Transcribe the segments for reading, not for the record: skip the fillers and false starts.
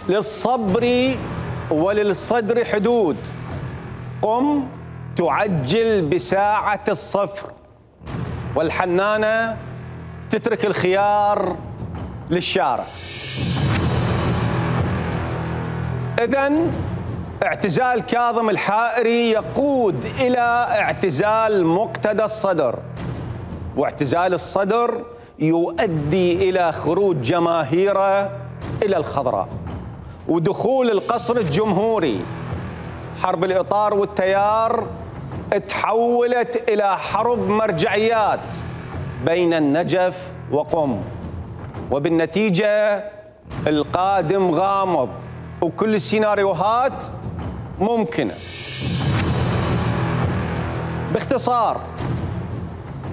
للصبر وللصدر حدود، قم تعجل بساعة الصفر، والحنانة تترك الخيار للشارع. إذن اعتزال كاظم الحائري يقود إلى اعتزال مقتدى الصدر، واعتزال الصدر يؤدي إلى خروج جماهيره إلى الخضراء ودخول القصر الجمهوري. حرب الإطار والتيار تحولت إلى حرب مرجعيات بين النجف وقم، وبالنتيجة القادم غامض وكل السيناريوهات ممكنة. باختصار،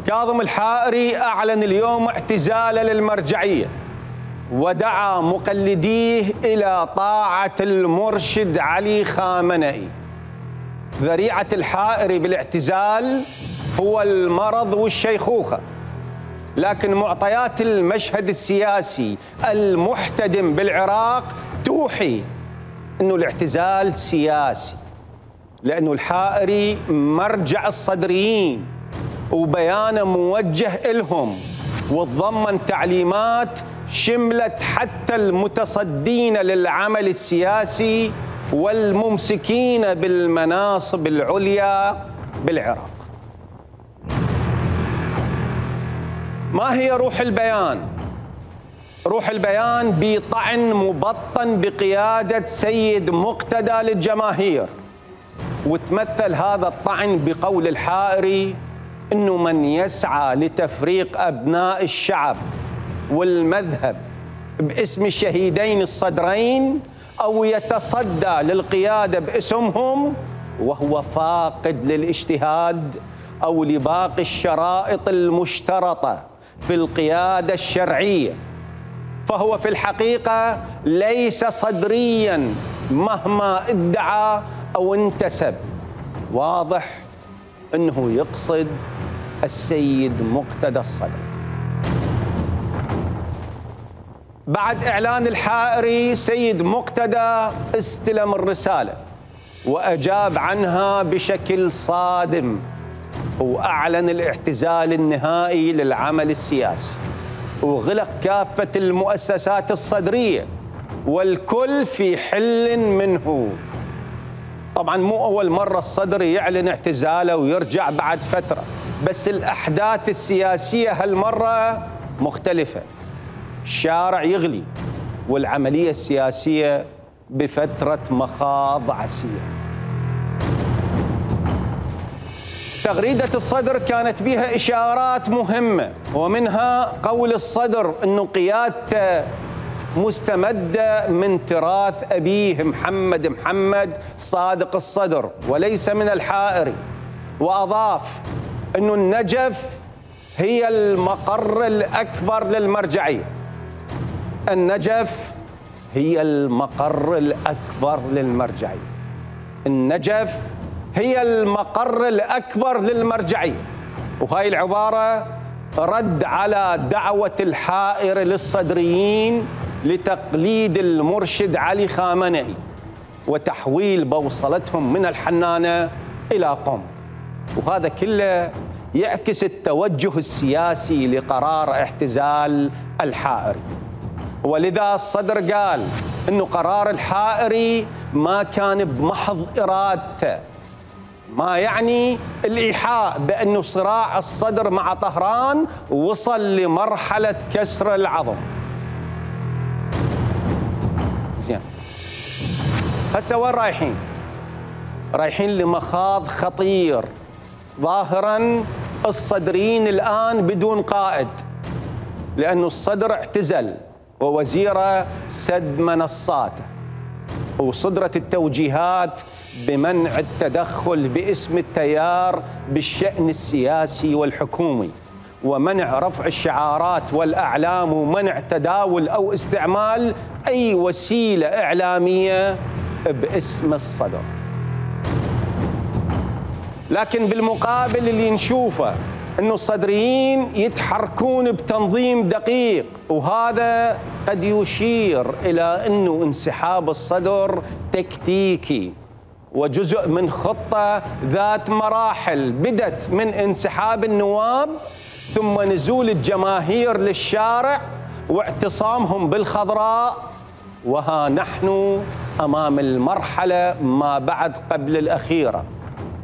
كاظم الحائري أعلن اليوم اعتزاله للمرجعية، ودعا مقلديه إلى طاعة المرشد علي خامنئي. ذريعة الحائري بالاعتزال هو المرض والشيخوخة، لكن معطيات المشهد السياسي المحتدم بالعراق توحي أنه الاعتزال سياسي، لأنه الحائري مرجع الصدريين وبيانه موجه إلهم، وتضمن تعليمات شملت حتى المتصدين للعمل السياسي والممسكين بالمناصب العليا بالعراق. ما هي روح البيان؟ روح البيان بطعن مبطن بقيادة سيد مقتدى للجماهير، وتمثل هذا الطعن بقول الحائري إنه من يسعى لتفريق أبناء الشعب والمذهب باسم الشهيدين الصدرين أو يتصدى للقيادة باسمهم وهو فاقد للاجتهاد أو لباقي الشرائط المشترطة في القيادة الشرعية، فهو في الحقيقة ليس صدرياً مهما ادعى أو انتسب. واضح أنه يقصد السيد مقتدى الصدر. بعد إعلان الحائري، سيد مقتدى استلم الرسالة وأجاب عنها بشكل صادم، وأعلن الاعتزال النهائي للعمل السياسي، وغلق كافة المؤسسات الصدرية والكل في حل منه. طبعا مو أول مرة الصدر يعلن اعتزاله ويرجع بعد فترة، بس الأحداث السياسية هالمرة مختلفة. الشارع يغلي والعملية السياسية بفترة مخاض عسير. تغريدة الصدر كانت بها إشارات مهمة، ومنها قول الصدر أنه قيادته مستمدة من تراث أبيه محمد صادق الصدر وليس من الحائري، وأضاف أنه النجف هي المقر الأكبر للمرجعية. النجف هي المقر الأكبر للمرجعية. النجف هي المقر الأكبر للمرجعية. وهاي العبارة رد على دعوة الحائر للصدريين لتقليد المرشد علي خامنئي وتحويل بوصلتهم من الحنانة إلى قم، وهذا كله يعكس التوجه السياسي لقرار اعتزال الحائري. ولذا الصدر قال إنه قرار الحائري ما كان بمحض إرادته، ما يعني الإيحاء بأنه صراع الصدر مع طهران وصل لمرحلة كسر العظم. زين، هسه وين رايحين؟ رايحين لمخاض خطير. ظاهرا الصدريين الآن بدون قائد، لأنه الصدر اعتزل ووزيره سد منصاته، وصدرت التوجيهات بمنع التدخل باسم التيار بالشأن السياسي والحكومي، ومنع رفع الشعارات والأعلام، ومنع تداول أو استعمال أي وسيلة إعلامية باسم الصدر. لكن بالمقابل اللي نشوفه أنه الصدريين يتحركون بتنظيم دقيق، وهذا قد يشير إلى أنه انسحاب الصدر تكتيكي وجزء من خطة ذات مراحل بدت من انسحاب النواب ثم نزول الجماهير للشارع واعتصامهم بالخضراء، وها نحن أمام المرحلة ما بعد قبل الأخيرة.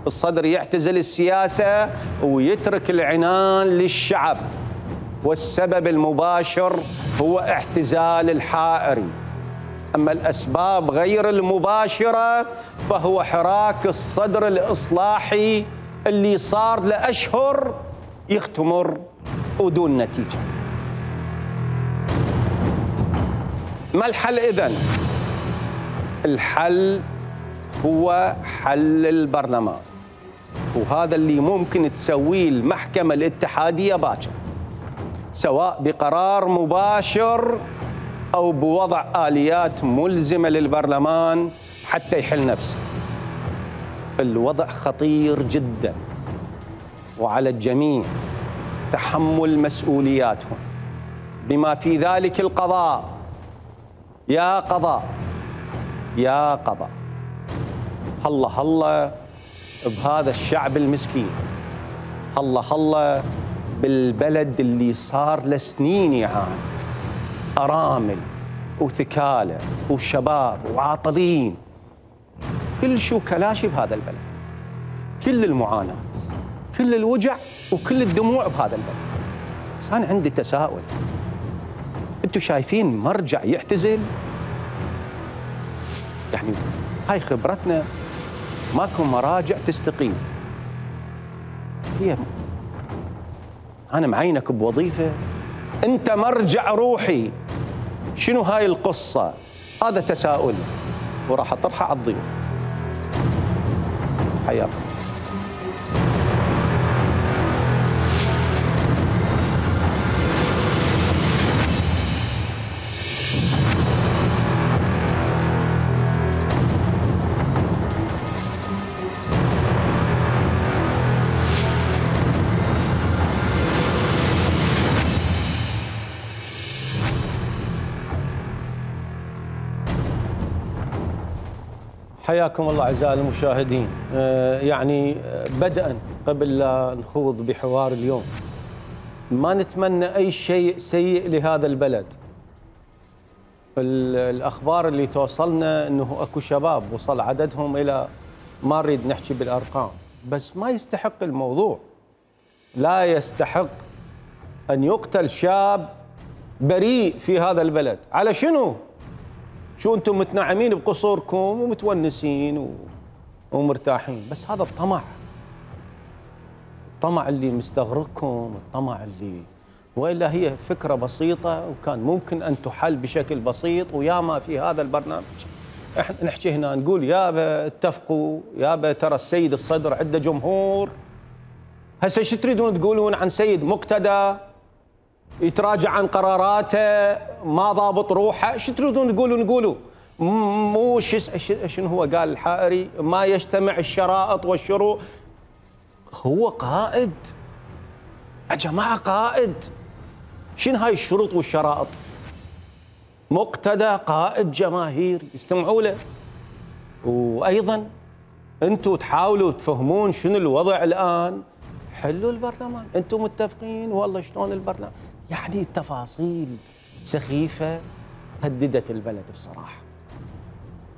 الصدر يعتزل السياسة ويترك العنان للشعب، والسبب المباشر هو اعتزال الحائري. أما الأسباب غير المباشرة فهو حراك الصدر الإصلاحي اللي صار لأشهر يختمر ودون نتيجة. ما الحل إذن؟ الحل هو حل البرلمان، وهذا اللي ممكن تسويه المحكمة الاتحادية باكر، سواء بقرار مباشر أو بوضع آليات ملزمة للبرلمان حتى يحل نفسه. الوضع خطير جدا، وعلى الجميع تحمل مسؤولياتهم بما في ذلك القضاء. يا قضاء يا قضاء، هلا هلا بهذا الشعب المسكين، هلا هلا بالبلد اللي صار لسنين يعاني، أرامل وثكالة وشباب وعاطلين، كل شو كلاشي بهذا البلد، كل المعاناة، كل الوجع وكل الدموع بهذا البلد. بس أنا عندي تساؤل، أنتم شايفين مرجع يعتزل؟ يعني هاي خبرتنا، ماكو مراجع تستقيل. هي أنا معينك بوظيفة، أنت مرجع روحي، شنو هاي القصة؟ هذا تساؤل وراح أطرحه على الضيوف. حياكم. حياكم الله أعزائي المشاهدين. يعني بدءا قبل لا نخوض بحوار اليوم، ما نتمنى أي شيء سيء لهذا البلد. الأخبار اللي توصلنا أنه أكو شباب وصل عددهم إلى، ما نريد نحكي بالأرقام، بس ما يستحق الموضوع. لا يستحق أن يقتل شاب بريء في هذا البلد. على شنو؟ شو أنتم متنعمين بقصوركم ومتونسين ومرتاحين، بس هذا الطمع اللي مستغرقكم، الطمع اللي، وإلا هي فكرة بسيطة وكان ممكن أن تحل بشكل بسيط. وياما في هذا البرنامج احنا نحكي هنا نقول يابا اتفقوا، يابا ترى السيد الصدر عنده جمهور. هسه شو تريدون تقولون عن سيد مقتدى يتراجع عن قراراته، ما ضابط روحه؟ شو تريدون تقولوا؟ مو شنو هو قال الحائري؟ ما يجتمع الشرائط والشروط. هو قائد يا جماعة، قائد. شنو هاي الشروط والشرائط؟ مقتدى قائد جماهير، يستمعوا له. وأيضا أنتم تحاولوا تفهمون شنو الوضع الآن، حلوا البرلمان، أنتم متفقين والله شلون البرلمان؟ يعني تفاصيل سخيفة هددت البلد بصراحة،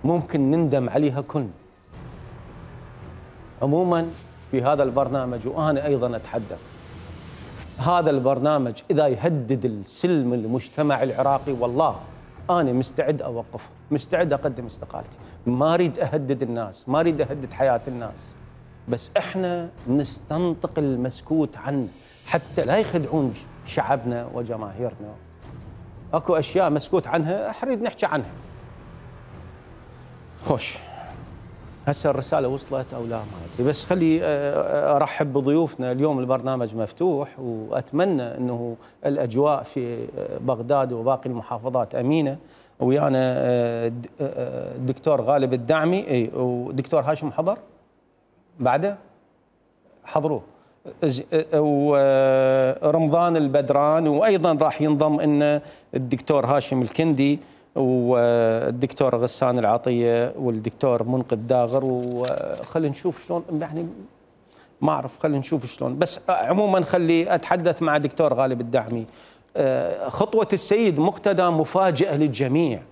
ممكن نندم عليها كلنا. عموما في هذا البرنامج، وأنا أيضا أتحدث، هذا البرنامج إذا يهدد السلم المجتمع العراقي، والله أنا مستعد أوقفه، مستعد أقدم استقالتي. ما أريد أهدد الناس، ما أريد أهدد حياة الناس، بس إحنا نستنطق المسكوت عنه حتى لا يخدعون شعبنا وجماهيرنا. أكو أشياء مسكوت عنها أريد نحكي عنها. خوش، هسه الرسالة وصلت أو لا ما أدري، بس خلي أرحب بضيوفنا اليوم. البرنامج مفتوح، وأتمنى أنه الأجواء في بغداد وباقي المحافظات أمينة. ويانا الدكتور غالب الدعمي، ودكتور هاشم حضر بعده، حضروه. ورمضان البدران، وايضا راح ينضم لنا الدكتور هاشم الكندي والدكتور غسان العطيه والدكتور منقذ داغر. وخلينا نشوف شلون، يعني ما اعرف، خلينا نشوف شلون. بس عموما خلي اتحدث مع دكتور غالب الدعمي. خطوه السيد مقتدى مفاجئه للجميع.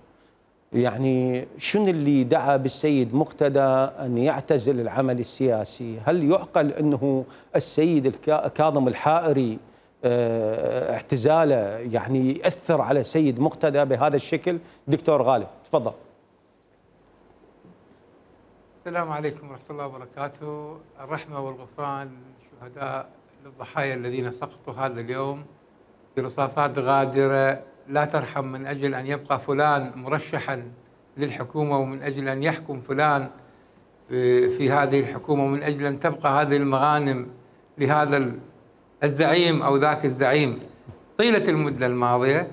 يعني شنو اللي دعا بالسيد مقتدى أن يعتزل العمل السياسي؟ هل يعقل أنه السيد كاظم الحائري اعتزاله يعني يأثر على سيد مقتدى بهذا الشكل؟ دكتور غالب تفضل. السلام عليكم ورحمة الله وبركاته. الرحمة والغفران للشهداء، للضحايا الذين سقطوا هذا اليوم برصاصات غادرة لا ترحم، من أجل أن يبقى فلان مرشحا للحكومة، ومن أجل أن يحكم فلان في هذه الحكومة، ومن أجل أن تبقى هذه المغانم لهذا الزعيم أو ذاك الزعيم. طيلة المدة الماضية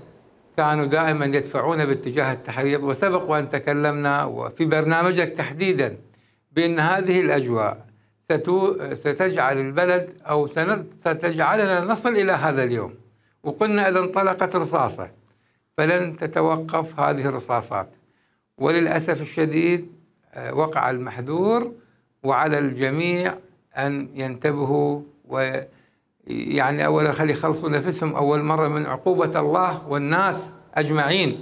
كانوا دائما يدفعون باتجاه التحريض، وسبق وأن تكلمنا وفي برنامجك تحديدا بأن هذه الأجواء ستجعل البلد أو ستجعلنا نصل إلى هذا اليوم. وقلنا إذا انطلقت رصاصة فلن تتوقف هذه الرصاصات، وللأسف الشديد وقع المحذور، وعلى الجميع أن ينتبهوا، ويعني أولا خلي يخلصوا نفسهم أول مرة من عقوبة الله والناس أجمعين.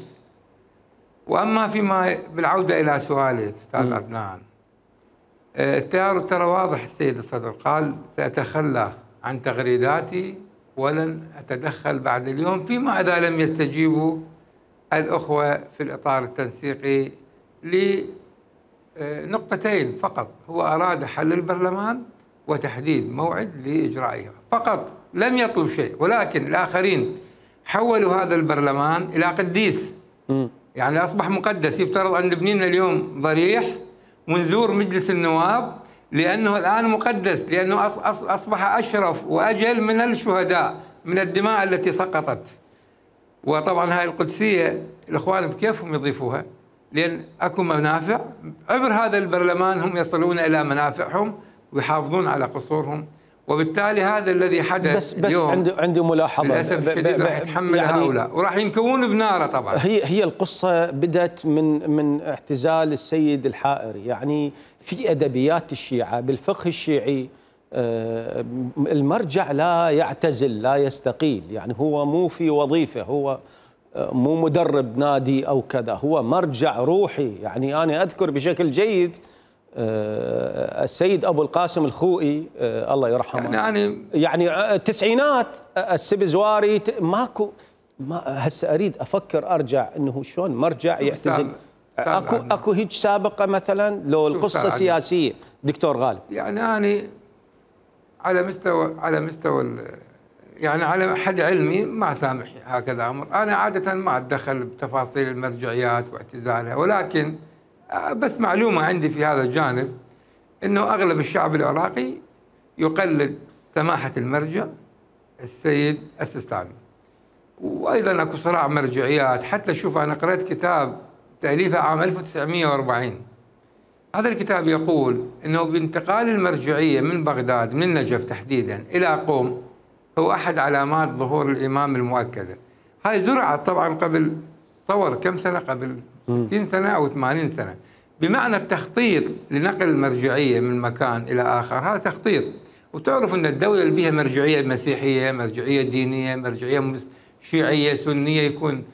وأما فيما بالعودة إلى سؤالك أستاذ عدنان، ترى واضح السيد الصدر قال سأتخلى عن تغريداتي ولن أتدخل بعد اليوم، فيما إذا لم يستجيبوا الأخوة في الإطار التنسيقي لنقطتين فقط. هو أراد حل البرلمان وتحديد موعد لإجرائها فقط، لم يطلب شيء. ولكن الآخرين حولوا هذا البرلمان إلى قديس، يعني أصبح مقدس. يفترض أن نبني لنا اليوم ضريح ونزور مجلس النواب لأنه الآن مقدس، لأنه أصبح أشرف وأجل من الشهداء، من الدماء التي سقطت. وطبعا هاي القدسية الإخوان بكيفهم يضيفوها، لأن أكو منافع عبر هذا البرلمان، هم يصلون إلى منافعهم ويحافظون على قصورهم. وبالتالي هذا الذي حدث بس اليوم عندي ملاحظة للأسف الشديد راح يتحمل يعني هؤلاء وراح ينكوون بناره. طبعا هي القصة بدأت من اعتزال السيد الحائري. يعني في أدبيات الشيعة بالفقه الشيعي المرجع لا يعتزل لا يستقيل، يعني هو مو في وظيفة، هو مو مدرب نادي أو كذا، هو مرجع روحي. يعني أنا أذكر بشكل جيد السيد أبو القاسم الخوئي الله يرحمه، يعني التسعينات السبزواري ماكو هسه أريد أفكر أرجع إنه شلون مرجع يعتزل. أكو هيك سابقة مثلا لو القصة سياسية دكتور غالب؟ يعني أنا على مستوى يعني على حد علمي ما سامح هكذا أمر. أنا عادة ما أتدخل بتفاصيل المرجعيات واعتزالها، ولكن بس معلومة عندي في هذا الجانب أنه أغلب الشعب العراقي يقلد سماحة المرجع السيد السيستاني. وأيضا أكو صراع مرجعيات. حتى شوف أنا قرأت كتاب تأليفه عام 1940، هذا الكتاب يقول أنه بانتقال المرجعية من بغداد من النجف تحديدا إلى قم هو أحد علامات ظهور الإمام المؤكدة. هاي زرعت طبعا قبل تصور كم سنة، قبل 60 سنة أو 80 سنة، بمعنى التخطيط لنقل المرجعية من مكان إلى آخر. هذا تخطيط. وتعرف أن الدولة اللي بها مرجعية مسيحية، مرجعية دينية، مرجعية شيعية سنية يكون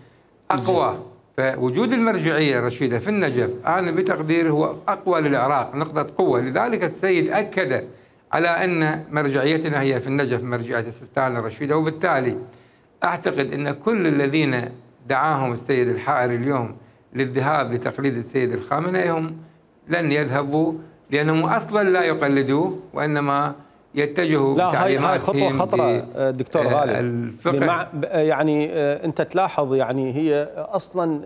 أقوى. فوجود المرجعية الرشيدة في النجف أنا بتقديري هو أقوى للعراق، نقطة قوة. لذلك السيد أكد على أن مرجعيتنا هي في النجف مرجعية السيستاني الرشيدة. وبالتالي أعتقد أن كل الذين دعاهم السيد الحائري اليوم للذهاب لتقليد السيد الخامنئي هم لن يذهبوا، لأنهم أصلا لا يقلدوه وإنما يتجهوا بتعليماتهم. هاي خطوة خطرة دكتور غالب. يعني أنت تلاحظ يعني هي أصلا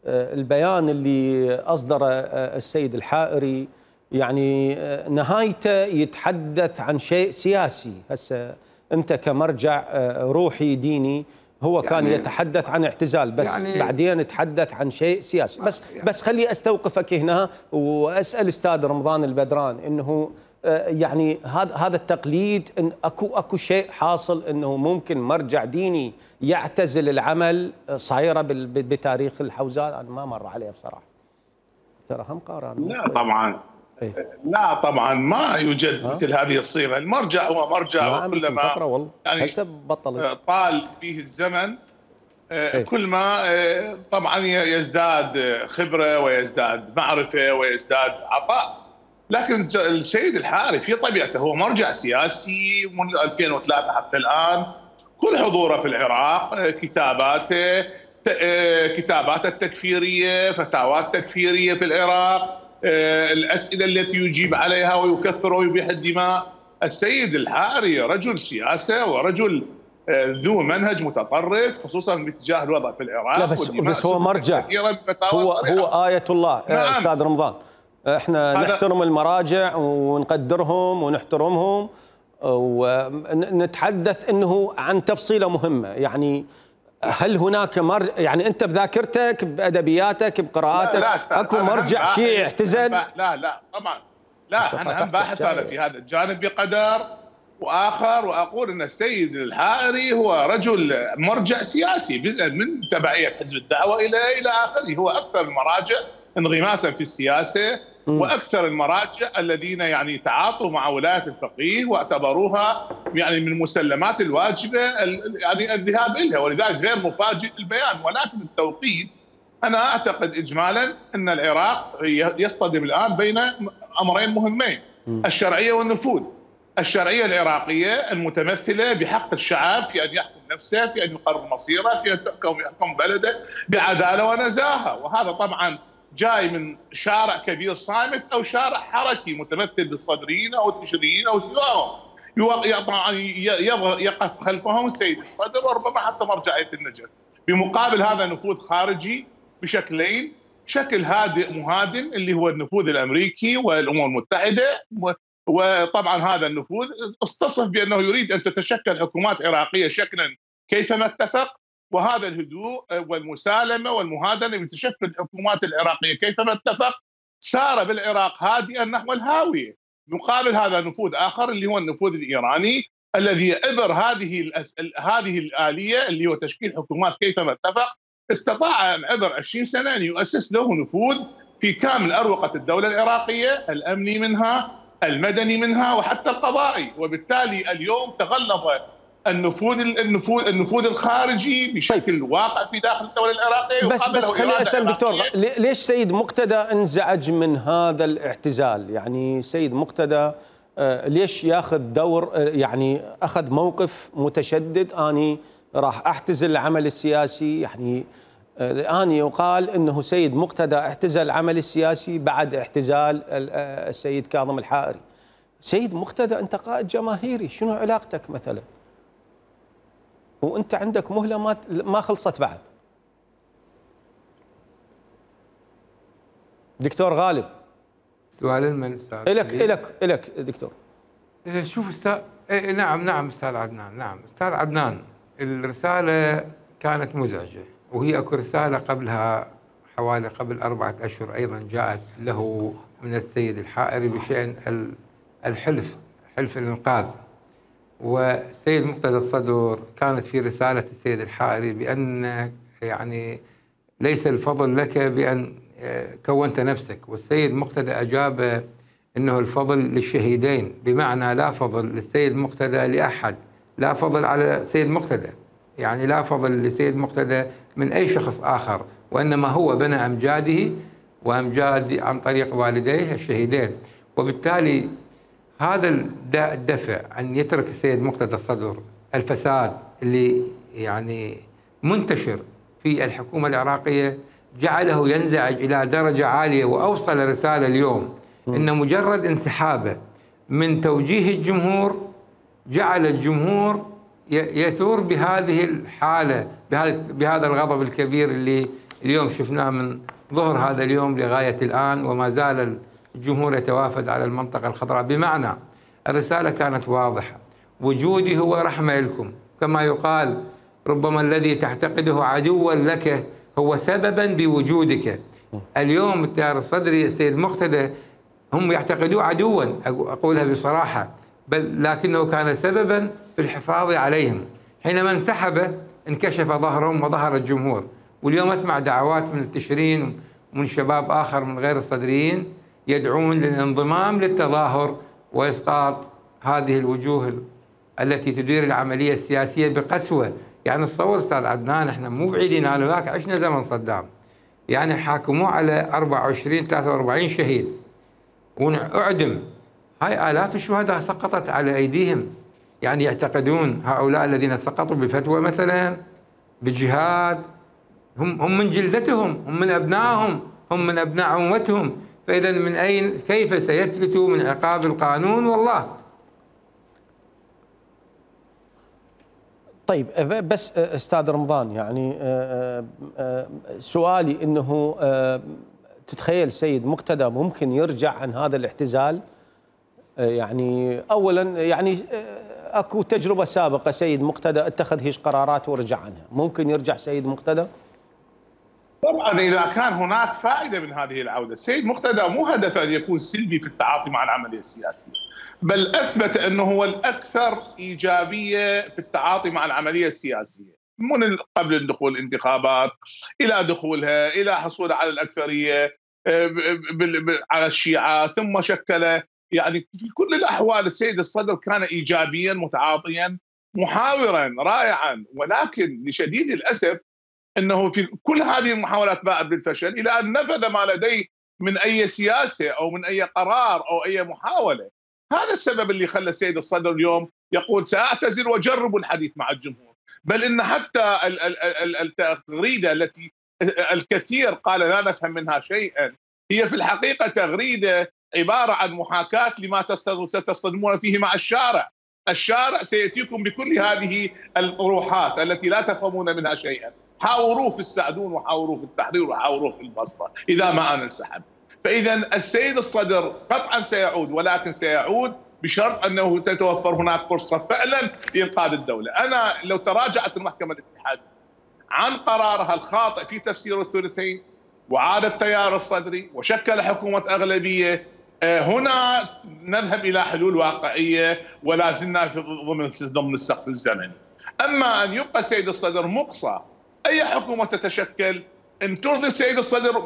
البيان اللي أصدره السيد الحائري يعني نهايته يتحدث عن شيء سياسي. هسه أنت كمرجع روحي ديني، هو كان يعني يتحدث عن اعتزال، بس يعني بعدين يتحدث عن شيء سياسي. بس خلي استوقفك هنا واسال استاذ رمضان البدران انه يعني هذا التقليد، إن اكو شيء حاصل انه ممكن مرجع ديني يعتزل العمل، صايره بتاريخ الحوزات؟ انا ما مر عليه بصراحه. ترى هم قارن. لا طبعا. إيه؟ لا طبعا ما يوجد مثل هذه الصيغه، المرجع هو مرجع، وكلما يعني طال به الزمن كل ما طبعا يزداد خبره ويزداد معرفه ويزداد عطاء. لكن السيد الحائري في طبيعته هو مرجع سياسي من 2003 حتى الان. كل حضوره في العراق، كتاباته التكفيريه، فتاوات تكفيريه في العراق، الاسئله التي يجيب عليها ويكفر ويبيح الدماء. السيد الحائري رجل سياسه ورجل ذو منهج متطرف، خصوصا باتجاه الوضع في العراق. لا بس هو مرجع، هو آية الله. نعم. أستاذ رمضان، احنا نحترم المراجع ونقدرهم ونحترمهم ونتحدث انه عن تفصيله مهمه. يعني هل هناك يعني انت بذاكرتك بادبياتك بقراءاتك اكو مرجع شيعي اعتزل؟ لا طبعا لا، انا هم باحث انا في هذا الجانب بقدر واخر، واقول ان السيد الحائري هو رجل مرجع سياسي من تبعيه حزب الدعوه الى اخره. هو اكثر المراجع انغماسا في السياسه، واكثر المراجع الذين يعني تعاطوا مع ولايه الفقيه واعتبروها يعني من المسلمات الواجبه يعني الذهاب اليها، ولذلك غير مفاجئ البيان. ولكن التوقيت، انا اعتقد اجمالا ان العراق يصطدم الان بين امرين مهمين: الشرعيه والنفوذ. الشرعيه العراقيه المتمثله بحق الشعب في ان يحكم نفسه، في ان يقرر مصيره، في ان يحكم بلده بعداله ونزاهه. وهذا طبعا جاي من شارع كبير صامت او شارع حركي متمثل بالصدريين او التشريين او سواهم، طبعا يقف خلفهم السيد الصدر وربما حتى مرجعيه النجف. بمقابل هذا نفوذ خارجي بشكلين: شكل هادئ مهادن اللي هو النفوذ الامريكي والامم المتحده، وطبعا هذا النفوذ استصف بانه يريد ان تتشكل حكومات عراقيه شكلا كيفما اتفق، وهذا الهدوء والمسالمه والمهادنه بتشكل الحكومات العراقيه كيفما اتفق سار بالعراق هادئا نحو الهاويه. مقابل هذا نفوذ اخر اللي هو النفوذ الايراني الذي عبر هذه الاليه اللي هو تشكيل حكومات كيفما اتفق، استطاع عبر 20 سنه ان يؤسس له نفوذ في كامل اروقه الدوله العراقيه، الامني منها، المدني منها، وحتى القضائي. وبالتالي اليوم تغلظ النفوذ الخارجي بشكل واقع في داخل الدوله العراقيه. بس خليني اسال دكتور، ليش سيد مقتدى انزعج من هذا الاعتزال؟ يعني سيد مقتدى ليش ياخذ دور، يعني اخذ موقف متشدد: اني راح اعتزل العمل السياسي؟ يعني الان يقال انه سيد مقتدى اعتزل العمل السياسي بعد اعتزال السيد كاظم الحائري. سيد مقتدى انت قائد جماهيري، شنو علاقتك مثلا؟ وانت عندك مهله ما خلصت بعد. دكتور غالب، سؤال من استاذ؟ الك دكتور. شوف استاذ، نعم استاذ عدنان، نعم استاذ عدنان، الرساله كانت مزعجه، وهي اكو رساله قبلها حوالي قبل 4 أشهر ايضا جاءت له من السيد الحائري بشان حلف الانقاذ. والسيد مقتدى الصدر كانت في رسالة السيد الحائري بأن يعني ليس الفضل لك بأن كونت نفسك، والسيد مقتدى أجاب أنه الفضل للشهيدين، بمعنى لا فضل للسيد مقتدى لأحد، لا فضل على سيد مقتدى، يعني لا فضل لسيد مقتدى من أي شخص آخر، وإنما هو بنى أمجاده وأمجاد عن طريق والديه الشهيدين. وبالتالي هذا الدفع أن يترك السيد مقتدى الصدر الفساد اللي يعني منتشر في الحكومة العراقية جعله ينزعج إلى درجة عالية، وأوصل رسالة اليوم إن مجرد انسحابه من توجيه الجمهور جعل الجمهور يثور بهذه الحالة، بهذا الغضب الكبير اللي اليوم شفناه من ظهر هذا اليوم لغاية الآن، وما زال الجمهور يتوافد على المنطقة الخضراء. بمعنى الرسالة كانت واضحة: وجودي هو رحمة لكم، كما يقال ربما الذي تعتقده عدوا لك هو سببا بوجودك. اليوم التيار الصدري السيد مقتدى هم يعتقدوه عدوا، أقولها بصراحة، بل لكنه كان سببا في الحفاظ عليهم. حينما انسحب انكشف ظهرهم وظهر الجمهور. واليوم أسمع دعوات من التشرين ومن شباب آخر من غير الصدريين يدعون للانضمام للتظاهر وإسقاط هذه الوجوه التي تدير العملية السياسية بقسوة. يعني تصور أستاذ عدنان، احنا مو بعيدين، أنا وياك عشنا زمن صدام، يعني حاكموه على 24 43 شهيد وأعدم. هاي آلاف الشهداء سقطت على أيديهم. يعني يعتقدون هؤلاء الذين سقطوا بفتوى مثلا بجهاد هم من جلدتهم، هم من أبنائهم، هم من أبناء أمتهم. فإذا من أين كيف سيفلتوا من عقاب القانون؟ والله. طيب بس استاذ رمضان، يعني سؤالي انه تتخيل سيد مقتدى ممكن يرجع عن هذا الاعتزال؟ يعني اولا يعني اكو تجربه سابقه سيد مقتدى اتخذ هيش قرارات ورجع عنها، ممكن يرجع سيد مقتدى؟ طبعا اذا كان هناك فائده من هذه العوده، السيد مقتدى مو هدفه ان يكون سلبي في التعاطي مع العمليه السياسيه، بل اثبت انه هو الاكثر ايجابيه في التعاطي مع العمليه السياسيه، من قبل الدخول الانتخابات الى دخولها الى حصوله على الاكثريه على الشيعه، ثم شكل يعني في كل الاحوال السيد الصدر كان ايجابيا متعاطيا محاورا رائعا، ولكن لشديد الاسف انه في كل هذه المحاولات باءت بالفشل الى ان نفذ ما لديه من اي سياسه او من اي قرار او اي محاوله. هذا السبب اللي خلى السيد الصدر اليوم يقول ساعتزل واجرب الحديث مع الجمهور، بل ان حتى التغريده التي الكثير قال لا نفهم منها شيئا هي في الحقيقه تغريده عباره عن محاكاه لما ستصطدمون فيه مع الشارع. الشارع سياتيكم بكل هذه الطروحات التي لا تفهمون منها شيئا، حاوروه في السعدون وحاوروه في التحرير وحاوروه في البصره اذا ما انا انسحب. فاذا السيد الصدر قطعا سيعود، ولكن سيعود بشرط انه تتوفر هناك فرصه فعلا لانقاذ الدوله. انا لو تراجعت المحكمه الاتحاديه عن قرارها الخاطئ في تفسير الثلثين وعاد التيار الصدري وشكل حكومه اغلبيه، هنا نذهب الى حلول واقعيه ولا زلنا ضمن السقف الزمني. اما ان يبقى السيد الصدر مقصى اي حكومه تتشكل ان ترضي السيد الصدر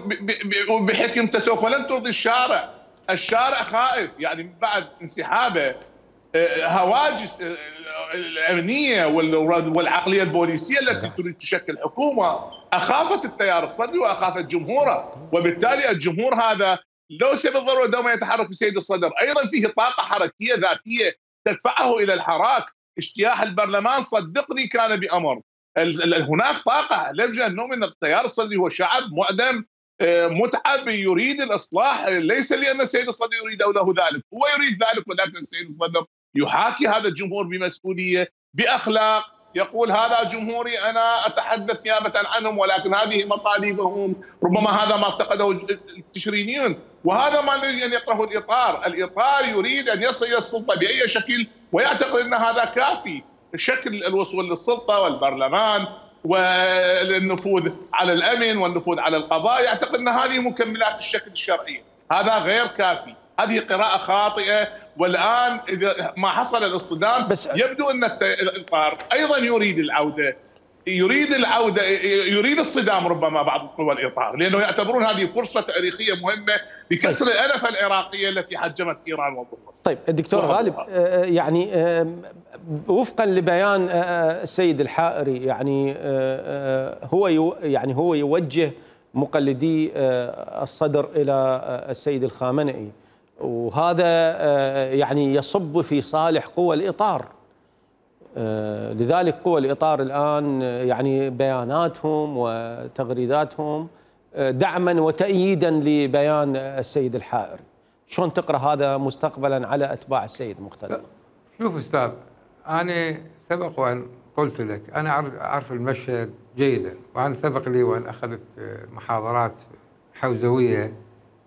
بحكمته سوف لن ترضي الشارع. الشارع خائف، يعني بعد انسحابه هواجس الامنيه والعقليه البوليسيه التي تريد تشكل حكومه اخافت التيار الصدري واخافت جمهوره، وبالتالي الجمهور هذا ليس بالضروره دوما يتحرك بسيد الصدر، ايضا فيه طاقه حركيه ذاتيه تدفعه الى الحراك. اجتياح البرلمان صدقني كان بامر، هناك طاقه لا يوجد نوع من التيار الصدري، هو شعب معدم متعب يريد الاصلاح، ليس لان السيد الصدر يريد او له ذلك، هو يريد ذلك، ولكن السيد الصدر يحاكي هذا الجمهور بمسؤوليه باخلاق، يقول هذا جمهوري انا اتحدث نيابه عنهم ولكن هذه مطالبهم، ربما هذا ما افتقده التشرينيون، وهذا ما يريد ان يقره الاطار يريد ان يصل الى السلطه باي شكل ويعتقد ان هذا كافي، شكل الوصول للسلطه والبرلمان والنفوذ على الامن والنفوذ على القضاء، يعتقد ان هذه مكملات الشكل الشرعي، هذا غير كافي، هذه قراءه خاطئه. والان اذا ما حصل الاصطدام يبدو ان الاطار ايضا يريد العوده، يريد الصدام ربما بعض قوى الاطار، لانه يعتبرون هذه فرصه تاريخيه مهمه لكسر الانفه العراقيه التي حجمت ايران وضربت. طيب الدكتور غالب، يعني وفقا لبيان السيد الحائري، يعني هو يوجه مقلدي الصدر الى السيد الخامنئي، وهذا يعني يصب في صالح قوى الإطار. لذلك قوى الإطار الآن يعني بياناتهم وتغريداتهم دعما وتأييدا لبيان السيد الحائري. شلون تقرأ هذا مستقبلا على أتباع السيد مقتدى؟ شوف أستاذ، أنا سبق وأن قلت لك أنا أعرف المشهد جيدا، وأنا سبق لي وأن أخذت محاضرات حوزوية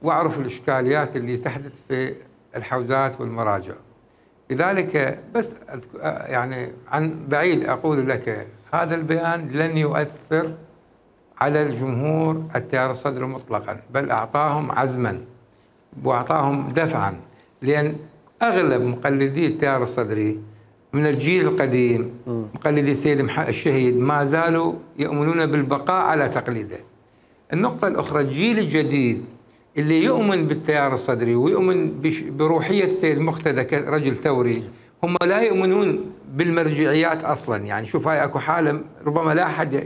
وأعرف الإشكاليات اللي تحدث في الحوزات والمراجع. لذلك بس يعني عن بعيد أقول لك هذا البيان لن يؤثر على الجمهور التيار الصدري مطلقا، بل أعطاهم عزما واعطاهم دفعا، لان اغلب مقلدي التيار الصدري من الجيل القديم مقلدي السيد الشهيد ما زالوا يؤمنون بالبقاء على تقليده. النقطة الأخرى الجيل الجديد اللي يؤمن بالتيار الصدري ويؤمن بروحية السيد مقتدى كرجل ثوري، هم لا يؤمنون بالمرجعيات أصلا. يعني شوف هاي أكو حالة ربما لا أحد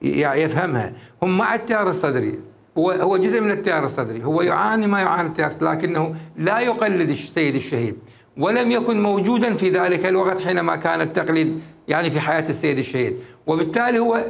يفهمها. هم مع التيار الصدري، هو جزء من التيار الصدري، هو يعاني ما يعاني التيار الصدري، لكنه لا يقلد السيد الشهيد، ولم يكن موجودا في ذلك الوقت حينما كان التقليد يعني في حياة السيد الشهيد، وبالتالي هو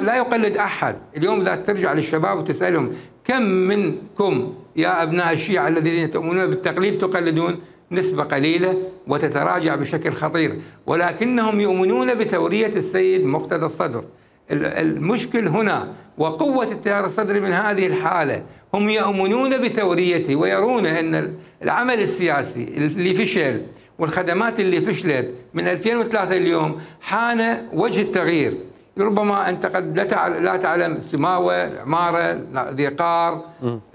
لا يقلد أحد. اليوم إذا ترجع للشباب وتسألهم كم منكم يا أبناء الشيعة الذين تؤمنون بالتقليد تقلدون؟ نسبة قليلة وتتراجع بشكل خطير، ولكنهم يؤمنون بثورية السيد مقتدى الصدر. المشكل هنا وقوة التيار الصدري من هذه الحالة، هم يؤمنون بثوريته ويرون أن العمل السياسي اللي فشل والخدمات اللي فشلت من 2003 اليوم حان وجه التغيير. ربما أنت قد لا تعلم سماوة، عمارة، ذي قار،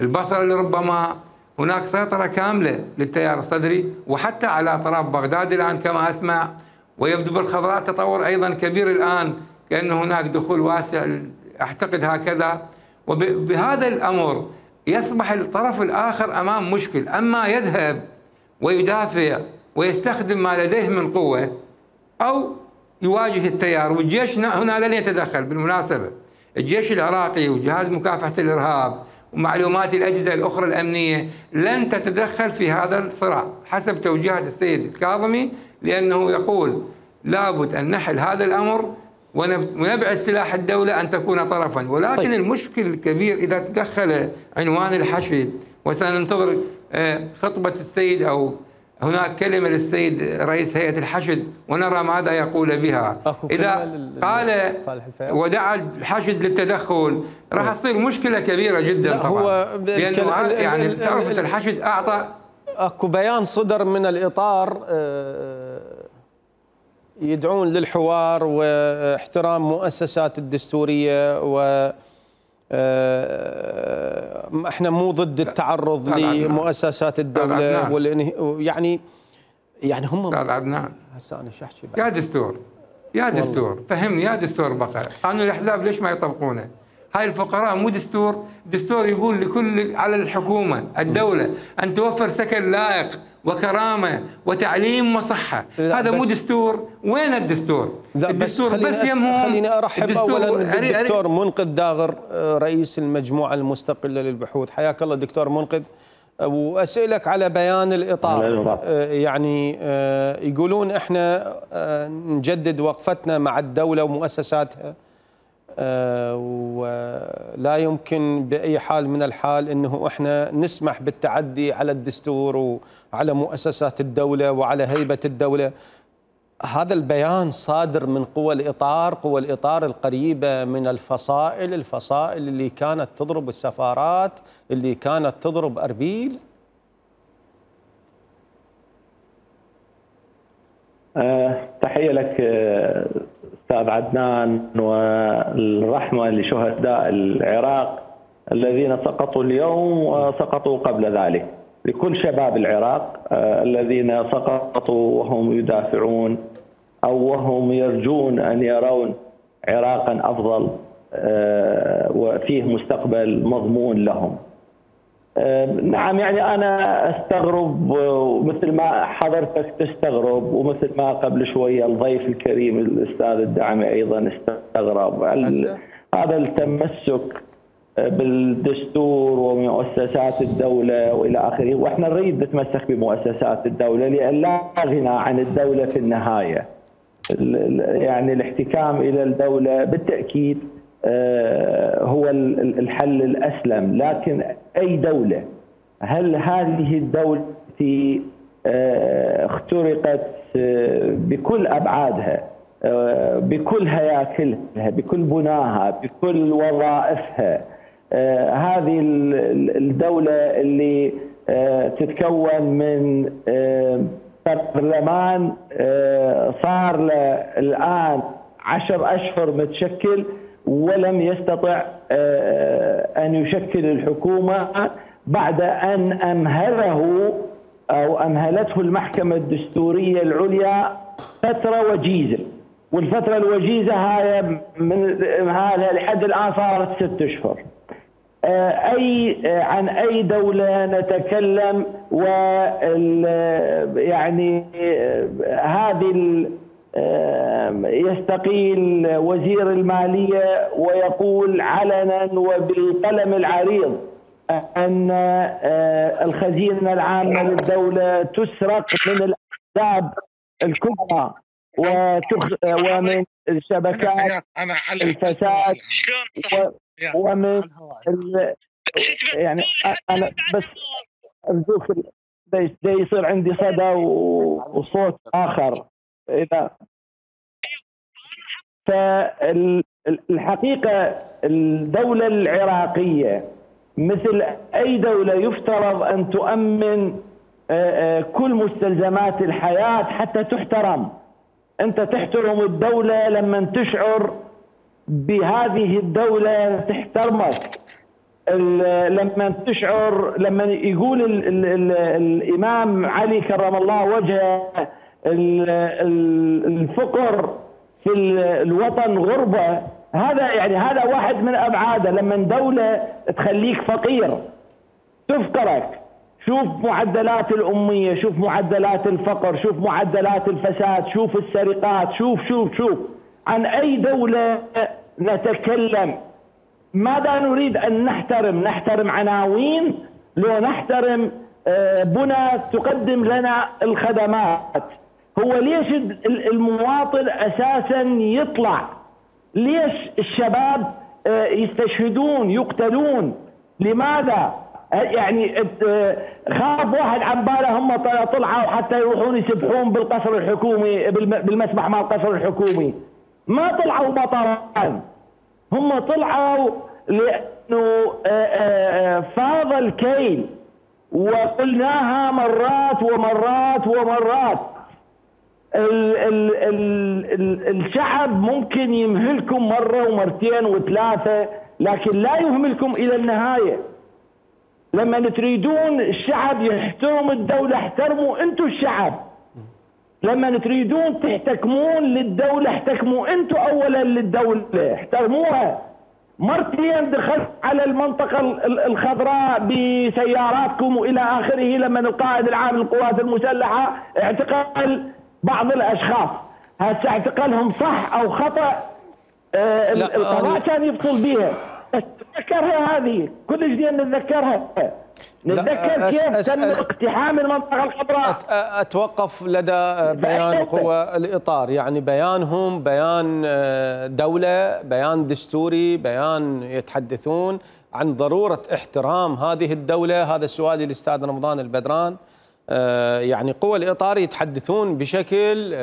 البصرة، لربما هناك سيطرة كاملة للتيار الصدري، وحتى على أطراف بغداد الآن كما أسمع، ويبدو بالخضراء تطور أيضا كبير الآن، كأن هناك دخول واسع أعتقد هكذا. وبهذا الأمر يصبح الطرف الآخر أمام مشكل، أما يذهب ويدافع ويستخدم ما لديه من قوة أو يواجه التيار. والجيش هنا لن يتدخل. بالمناسبة الجيش العراقي وجهاز مكافحة الإرهاب ومعلومات الأجهزة الأخرى الأمنية لن تتدخل في هذا الصراع حسب توجيهات السيد الكاظمي، لأنه يقول لابد أن نحل هذا الأمر ونبعد سلاح الدولة أن تكون طرفا. ولكن المشكل الكبير إذا تدخل عنوان الحشد، وسننتظر خطبة السيد أو هناك كلمة للسيد رئيس هيئة الحشد ونرى ماذا يقول بها. إذا قال ودعا الحشد للتدخل راح تصير مشكلة كبيرة جدا طبعا، لأنه يعني تعرفة الحشد أعطى أكو بيان صدر من الإطار يدعون للحوار واحترام مؤسسات الدستورية، و احنا مو ضد التعرض لمؤسسات الدولة يعني هم استاذ عدنان هسه انا شو احكي يا دستور يا دستور فهمني يا دستور بقى قانون الاحزاب ليش ما يطبقونه؟ هاي الفقراء مو دستور يقول لكل على الحكومة الدولة أن توفر سكن لائق وكرامة وتعليم وصحة. هذا مو دستور. وين الدستور؟ الدستور بس يمهم. خليني أرحب أولا بالدكتور منقذ داغر رئيس المجموعة المستقلة للبحوث. حياك الله دكتور منقذ، وأسألك على بيان الإطار. يعني يقولون احنا نجدد وقفتنا مع الدولة ومؤسساتها، ولا يمكن بأي حال من الحال أنه إحنا نسمح بالتعدي على الدستور وعلى مؤسسات الدولة وعلى هيبة الدولة. هذا البيان صادر من قوى الإطار القريبة من الفصائل اللي كانت تضرب السفارات، اللي كانت تضرب أربيل. تحية لك أستاذ عدنان، والرحمة لشهداء العراق الذين سقطوا اليوم وسقطوا قبل ذلك، لكل شباب العراق الذين سقطوا وهم يدافعون أو وهم يرجون أن يرون عراقا أفضل وفيه مستقبل مضمون لهم. نعم، يعني أنا أستغرب مثل ما حضرتك تستغرب، ومثل ما قبل شوية الضيف الكريم الأستاذ الدعمي أيضا استغرب هذا التمسك بالدستور ومؤسسات الدولة وإلى آخره. وإحنا نريد نتمسك بمؤسسات الدولة لأن لا غنى عن الدولة في النهاية. يعني الاحتكام إلى الدولة بالتأكيد هو الحل الأسلم، لكن أي دولة، هل هذه الدولة اخترقت بكل أبعادها، بكل هياكلها، بكل بناها، بكل وظائفها، هذه الدولة اللي تتكون من برلمان صار له الآن 10 أشهر متشكل ولم يستطع أن يشكل الحكومة، بعد أن أمهله أو أمهلته المحكمة الدستورية العليا فترة وجيزة، والفترة الوجيزة هاي من إمهالها لحد الآن صارت 6 أشهر. عن أي دولة نتكلم؟ يعني هذه يستقيل وزير المالية ويقول علنا وبالقلم العريض أن الخزينة العامة للدولة تسرق من الأحزاب الكبرى ومن الشبكات الفساد ومن يعني أنا بس أرجوك يصير عندي صدى وصوت آخر إذا. فالحقيقة الدولة العراقية مثل أي دولة يفترض أن تؤمن كل مستلزمات الحياة حتى تحترم. أنت تحترم الدولة لما تشعر بهذه الدولة تحترمك، لما تشعر، لما يقول الإمام علي كرم الله وجهه الفقر في الوطن غربة، هذا واحد من أبعاده. لما دولة تخليك فقير تفقرك، شوف معدلات الأمية، شوف معدلات الفقر، شوف معدلات الفساد، شوف السرقات، شوف عن أي دولة نتكلم؟ ماذا نريد أن نحترم عناوين لو نحترم بنى تقدم لنا الخدمات؟ هو ليش المواطن أساسا يطلع؟ ليش الشباب يستشهدون يقتلون؟ لماذا؟ يعني خاف واحد عن باله هم طلعوا حتى يروحون يسبحون بالقصر الحكومي، بالمسبح مال القصر الحكومي. ما طلعوا مطران، هم طلعوا لأنه فاض الكيل، وقلناها مرات ومرات ومرات. الشعب ممكن يمهلكم مرة ومرتين وثلاثة، لكن لا يهملكم إلى النهاية. لما تريدون الشعب يحترم الدولة احترموا انتم الشعب. لما تريدون تحتكمون للدولة احتكموا انتم اولا للدولة، احترموها. مرتين دخلت على المنطقة الخضراء بسياراتكم والى اخره لما القائد العام للقوات المسلحة اعتقل بعض الاشخاص. هسه اعتقالهم صح او خطأ القضاء كان يفصل بيها، نتذكرها هذه كل جديد نتذكرها. نتذكر كيف تم اقتحام المنطقة الخضراء. أتوقف لدى بيان قوى الإطار، يعني بيانهم بيان دولة، بيان دستوري، بيان يتحدثون عن ضرورة احترام هذه الدولة. هذا السؤال للأستاذ رمضان البدران. يعني قوى الإطار يتحدثون بشكل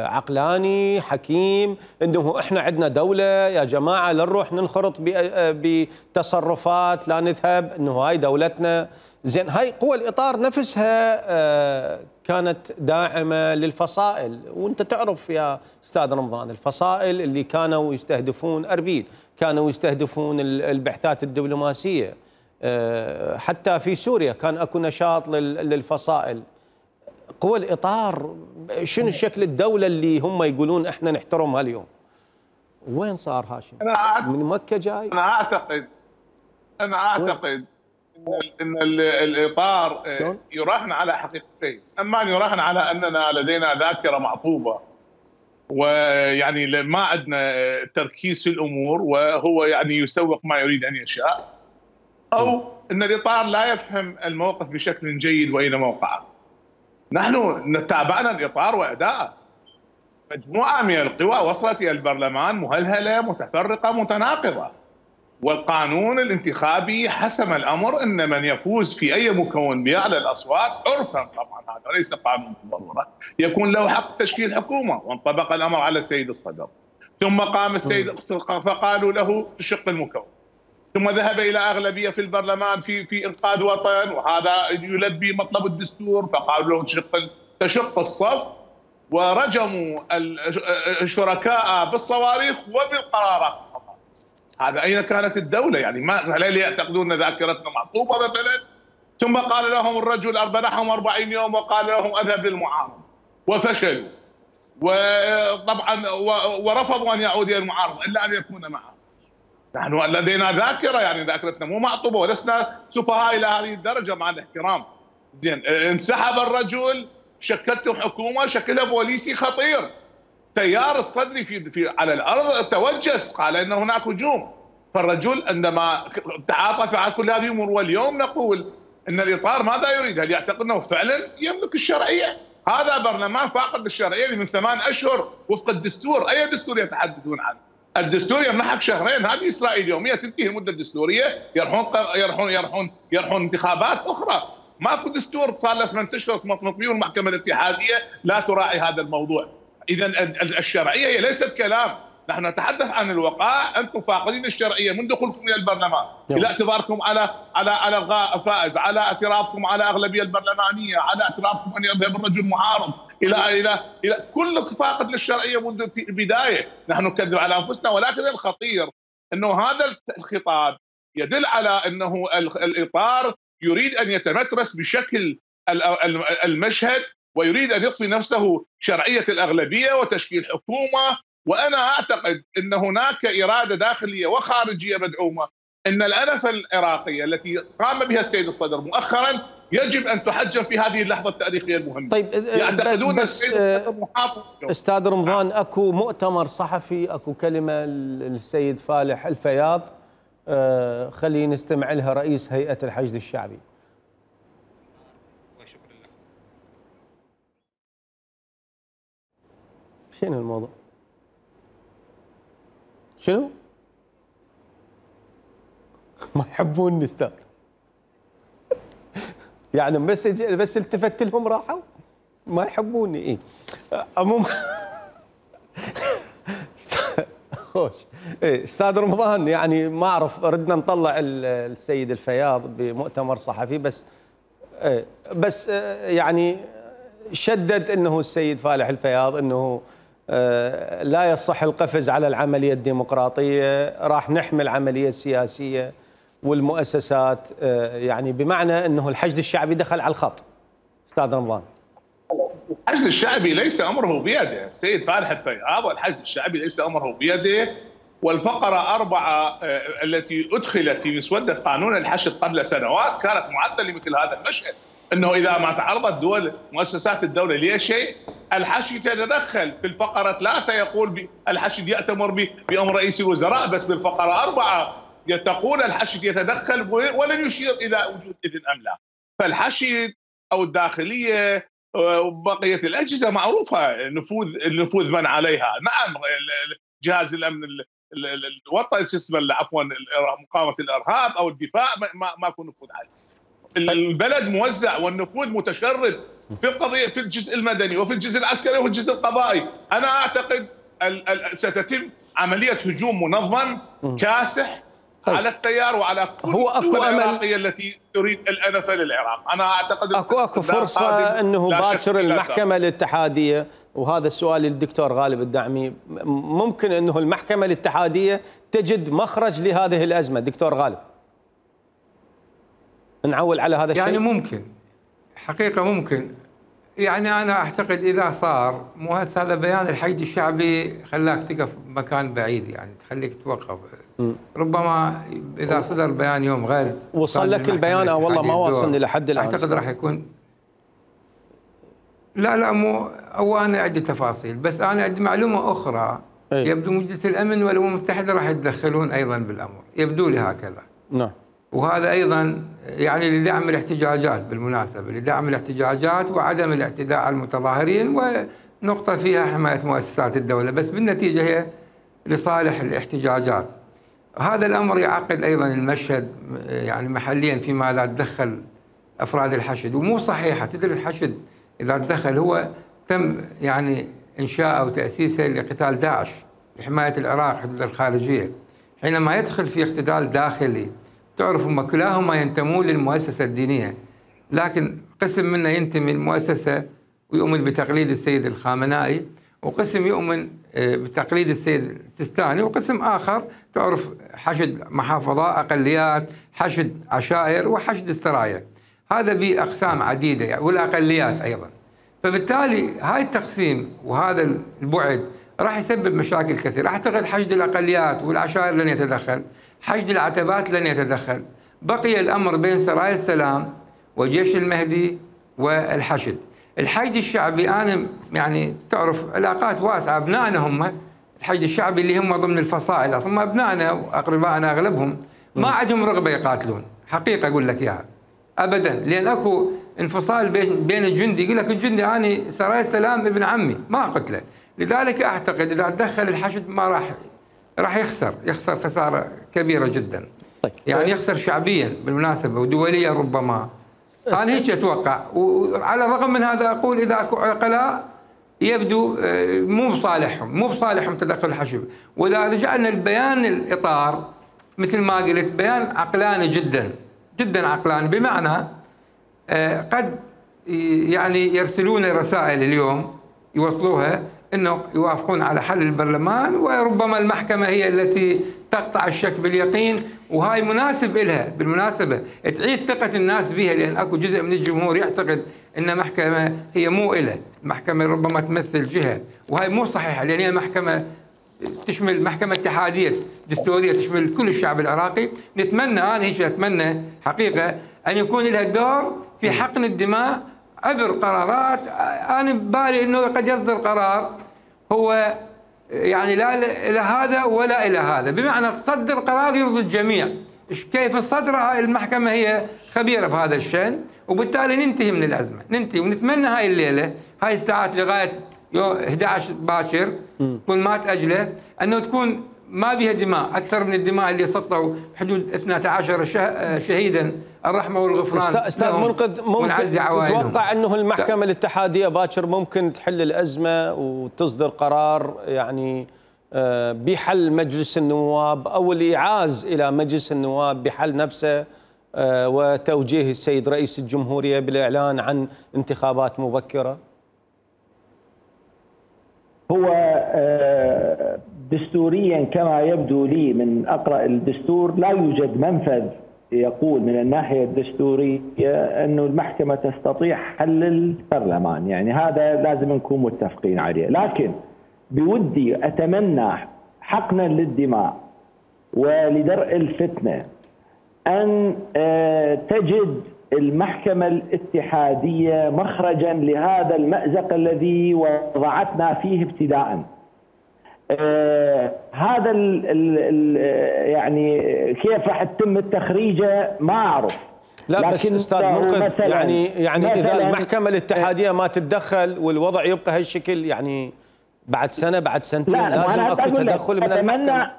عقلاني حكيم انه احنا عندنا دولة يا جماعة، لا نروح ننخرط بتصرفات، لا نذهب، انه هاي دولتنا. زين، هاي قوى الإطار نفسها كانت داعمة للفصائل، وانت تعرف يا استاذ رمضان الفصائل اللي كانوا يستهدفون أربيل، كانوا يستهدفون البعثات الدبلوماسية، حتى في سوريا كان اكو نشاط للفصائل. قوى الإطار شنو شكل الدولة اللي هم يقولون احنا نحترمها اليوم؟ وين صار هاشم؟ من مكة جاي؟ انا اعتقد ان الإطار يراهن على حقيقتين. اما يراهن على اننا لدينا ذاكرة معطوبة، ويعني ما عندنا تركيز في الامور، وهو يعني يسوق ما يريد ان يشاء، أو أن الإطار لا يفهم الموقف بشكل جيد وأين موقعه. نحن تابعنا الإطار وأداءه. مجموعة من القوى وصلت إلى البرلمان مهلهلة متفرقة متناقضة، والقانون الانتخابي حسم الأمر أن من يفوز في أي مكون بأعلى الأصوات عرفا، طبعا هذا ليس قانون بالضرورة، يكون له حق تشكيل حكومة، وانطبق الأمر على السيد الصدر. ثم قام السيد فقالوا له تشق المكون، ثم ذهب إلى أغلبية في البرلمان في إنقاذ وطن، وهذا يلبي مطلب الدستور، فقالوا له تشق الصف، ورجموا الشركاء بالصواريخ وبالقرارات. هذا أين كانت الدولة؟ يعني ما هل يعتقدون ذاكرتنا معطوبة مثلا؟ ثم قال لهم الرجل منحهم 40 يوم وقال لهم اذهب للمعارضه وفشلوا، وطبعا ورفضوا ان يعود الى المعارضه الا ان يكون معهم. نحن لدينا ذاكره، يعني ذاكرتنا مو معطوبه ولسنا سفهاء الى هذه الدرجه مع الاحترام. زين، انسحب الرجل، شكلتم حكومه شكلها بوليسي خطير. تيار الصدري في على الارض توجس، قال ان هناك هجوم. فالرجل عندما تعاطف على كل هذه الامور، واليوم نقول ان الاطار ماذا يريد؟ هل يعتقد انه فعلا يملك الشرعيه؟ هذا برلمان فاقد للشرعيه من 8 اشهر وفق الدستور. اي دستور يتحدثون عنه؟ الدستور يمنحك شهرين، هذه اسرائيل يوميه تنتهي المده الدستوريه، يرحون انتخابات اخرى. ماكو دستور صار له 8 اشهر مطمئن، والمحكمه الاتحاديه لا تراعي هذا الموضوع. اذا الشرعيه هي ليست كلام، نحن نتحدث عن الوقائع. انتم فاقدين الشرعيه من دخولكم الى البرلمان الى اعتذاركم على الغاء الفائز، على اعترافكم على اغلبيه البرلمانيه، على اعترافكم ان يذهب الرجل معارض، الى كلك فاقد للشرعيه منذ البدايه. نحن نكذب على انفسنا، ولكن الخطير انه هذا الخطاب يدل على انه الاطار يريد ان يتمترس بشكل المشهد، ويريد ان يضفي نفسه شرعيه الاغلبيه وتشكيل حكومه. وانا اعتقد ان هناك اراده داخليه وخارجيه مدعومه، ان الانفه العراقيه التي قام بها السيد الصدر مؤخرا يجب ان تحجم في هذه اللحظه التاريخيه المهمه. طيب، يعتقدون بس السيد الصدر محافظ. استاذ رمضان، اكو مؤتمر صحفي، اكو كلمه للسيد فالح الفياض، خلينا نستمع لها، رئيس هيئه الحشد الشعبي. شنو الموضوع؟ شنو؟ ما يحبوني استاذ. يعني بس التفت لهم راحوا؟ ما يحبوني. ايه عموما خوش. إيه استاذ رمضان، يعني ما اعرف، ردنا نطلع السيد الفياض بمؤتمر صحفي، بس يعني شدد انه السيد فالح الفياض انه لا يصح القفز على العملية الديمقراطية، راح نحمي العملية السياسية والمؤسسات، يعني بمعنى أنه الحشد الشعبي دخل على الخط. أستاذ رمضان، الحشد الشعبي ليس أمره بيده. السيد فالح الفياض والحشد الشعبي ليس أمره بيده. والفقرة 4 التي أدخلت في مسودة قانون الحشد قبل سنوات كانت معدة لمثل هذا المشهد، أنه إذا ما تعرضت دول مؤسسات الدولة لشيء الحشد يتدخل. في الفقرة 3 يقول الحشد يأتمر بأمر رئيس الوزراء، بس بالفقرة 4 تقول الحشد يتدخل ولن يشير إلى وجود إذن أم لا. فالحشد أو الداخلية وبقية الأجهزة معروفة النفوذ من عليها. نعم، جهاز الأمن الوطني عفوا مقاومة الإرهاب أو الدفاع ما يكون نفوذ عليه. البلد موزع والنفوذ متشرد في القضية، في الجزء المدني وفي الجزء العسكري وفي الجزء القضائي. أنا أعتقد ستتم عملية هجوم منظم كاسح على التيار وعلى كل الدول العراقية التي تريد الأنفة للعراق. أنا أعتقد أكو فرصة أنه باكر المحكمة الاتحادية، وهذا السؤال للدكتور غالب الدعمي، ممكن أنه المحكمة الاتحادية تجد مخرج لهذه الأزمة؟ دكتور غالب، نعول على هذا الشيء؟ يعني ممكن، حقيقة ممكن. يعني أنا أعتقد إذا صار، مو هذا بيان الحشد الشعبي خلاك تقف بمكان بعيد، يعني تخليك توقف. ربما إذا صدر بيان يوم غد وصل لك البيان أو والله ما واصلني لحد الآن؟ أعتقد راح يكون لا مو، أو أنا عندي تفاصيل، بس أنا عندي معلومة أخرى. يبدو مجلس الأمن والأمم المتحدة راح يتدخلون أيضا بالأمر، يبدو لي هكذا. نعم. وهذا أيضا يعني لدعم الاحتجاجات، بالمناسبة لدعم الاحتجاجات وعدم الاعتداء على المتظاهرين، ونقطة فيها حماية مؤسسات الدولة، بس بالنتيجة هي لصالح الاحتجاجات. هذا الأمر يعقد أيضا المشهد يعني محليا فيما لا تدخل أفراد الحشد. ومو صحيحة، تدري الحشد إذا تدخل هو تم يعني إنشاء أو تأسيسه لقتال داعش لحماية العراق حدود الخارجية. حينما يدخل في اقتتال داخلي، تعرف هم كلاهما ينتمون للمؤسسة الدينية، لكن قسم منه ينتمي للمؤسسة ويؤمن بتقليد السيد الخامنائي، وقسم يؤمن بتقليد السيد السيستاني، وقسم آخر تعرف حشد محافظات، أقليات، حشد عشائر، وحشد السرايا. هذا بأقسام عديدة يعني والأقليات أيضا. فبالتالي هاي التقسيم وهذا البعد راح يسبب مشاكل كثيرة. أعتقد حشد الأقليات والعشائر لن يتدخل، حشد العتبات لن يتدخل، بقي الأمر بين سرايا السلام وجيش المهدي والحشد. الحشد الشعبي أنا يعني تعرف علاقات واسعة، أبنائنا هم الحشد الشعبي اللي هم ضمن الفصائل، أصلا أبنائنا وأقربائنا أغلبهم ما عندهم رغبة يقاتلون، حقيقة أقول لك إياها أبدا، لأن أكو انفصال بين الجندي. يقول لك الجندي أنا سرايا السلام ابن عمي ما أقتله. لذلك أعتقد إذا تدخل الحشد ما راح يخسر خسارة كبيرة جدا. طيب. يعني يخسر شعبيا بالمناسبة ودوليا ربما. أنا هيك أتوقع. وعلى الرغم من هذا أقول إذا أكو عقلاء يبدو مو بصالحهم تدخل الحشد. وإذا رجعنا لبيان الإطار مثل ما قلت بيان عقلاني جدا عقلاني، بمعنى قد يعني يرسلون رسائل اليوم يوصلوها انه يوافقون على حل البرلمان، وربما المحكمه هي التي تقطع الشك باليقين، وهاي مناسب لها بالمناسبه تعيد ثقه الناس بها، لان اكو جزء من الجمهور يعتقد ان المحكمه هي مو إله، المحكمه ربما تمثل جهه، وهي مو صحيحه، لان هي محكمه تشمل محكمه اتحاديه دستوريه تشمل كل الشعب العراقي. انا هيك اتمنى حقيقه ان يكون لها دور في حقن الدماء عبر قرارات. انا ببالي انه قد يصدر قرار هو يعني لا الى هذا ولا الى هذا، بمعنى تصدر قرار يرضي الجميع. كيف الصدر المحكمه هي خبيره بهذا الشان، وبالتالي ننتهي من الازمه، ننتهي. ونتمنى هاي الليله هاي الساعات لغايه 11 باكر كل ما تاجله انه تكون ما بها دماء اكثر من الدماء اللي سطوا حدود 12 شهيدا، الرحمه والغفران. استاذ منقذ، ممكن تتوقع انه المحكمه الاتحاديه باكر ممكن تحل الازمه وتصدر قرار يعني بحل مجلس النواب او الايعاز الى مجلس النواب بحل نفسه وتوجيه السيد رئيس الجمهوريه بالاعلان عن انتخابات مبكره؟ هو دستوريا كما يبدو لي من أقرأ الدستور لا يوجد منفذ يقول من الناحية الدستورية أنه المحكمة تستطيع حل البرلمان، يعني هذا لازم نكون متفقين عليه. لكن بودي أتمنى حقنا للدماء ولدرء الفتنة أن تجد المحكمة الاتحادية مخرجا لهذا المأزق الذي وضعتنا فيه ابتداء. هذا يعني كيف راح تتم التخريجه ما اعرف. لا بس استاذ منقذ، يعني اذا المحكمه الاتحاديه ما تتدخل والوضع يبقى هالشكل، يعني بعد سنه بعد سنتين لازم اكو تدخل من المحكمه.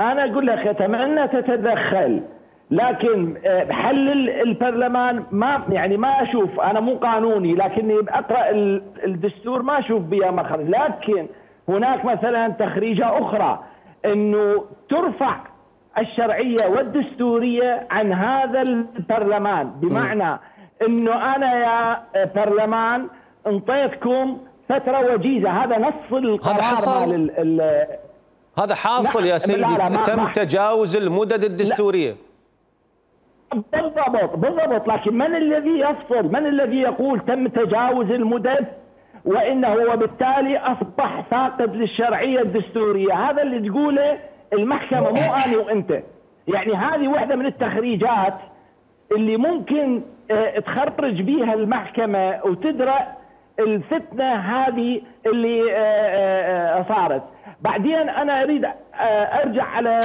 انا اقول لك اتمنى تتدخل، لكن حل البرلمان ما اشوف، انا مو قانوني لكني اقرا الدستور ما اشوف بها مخرج. لكن هناك مثلا تخريجه اخرى انه ترفع الشرعيه والدستوريه عن هذا البرلمان، بمعنى انه انا يا برلمان انطيتكم فتره وجيزه، هذا نص القرار. هذا حصل، هذا حاصل يا سيدي، تم تجاوز المدد الدستوريه. بالضبط، لكن من الذي يفصل؟ من الذي يقول تم تجاوز المدد وانه وبالتالي اصبح فاقد للشرعيه الدستوريه؟ هذا اللي تقوله المحكمه، مو انا وانت. يعني هذه واحده من التخريجات اللي ممكن تخرج بها المحكمه وتدرأ الفتنه هذه اللي صارت. بعدين انا اريد ارجع على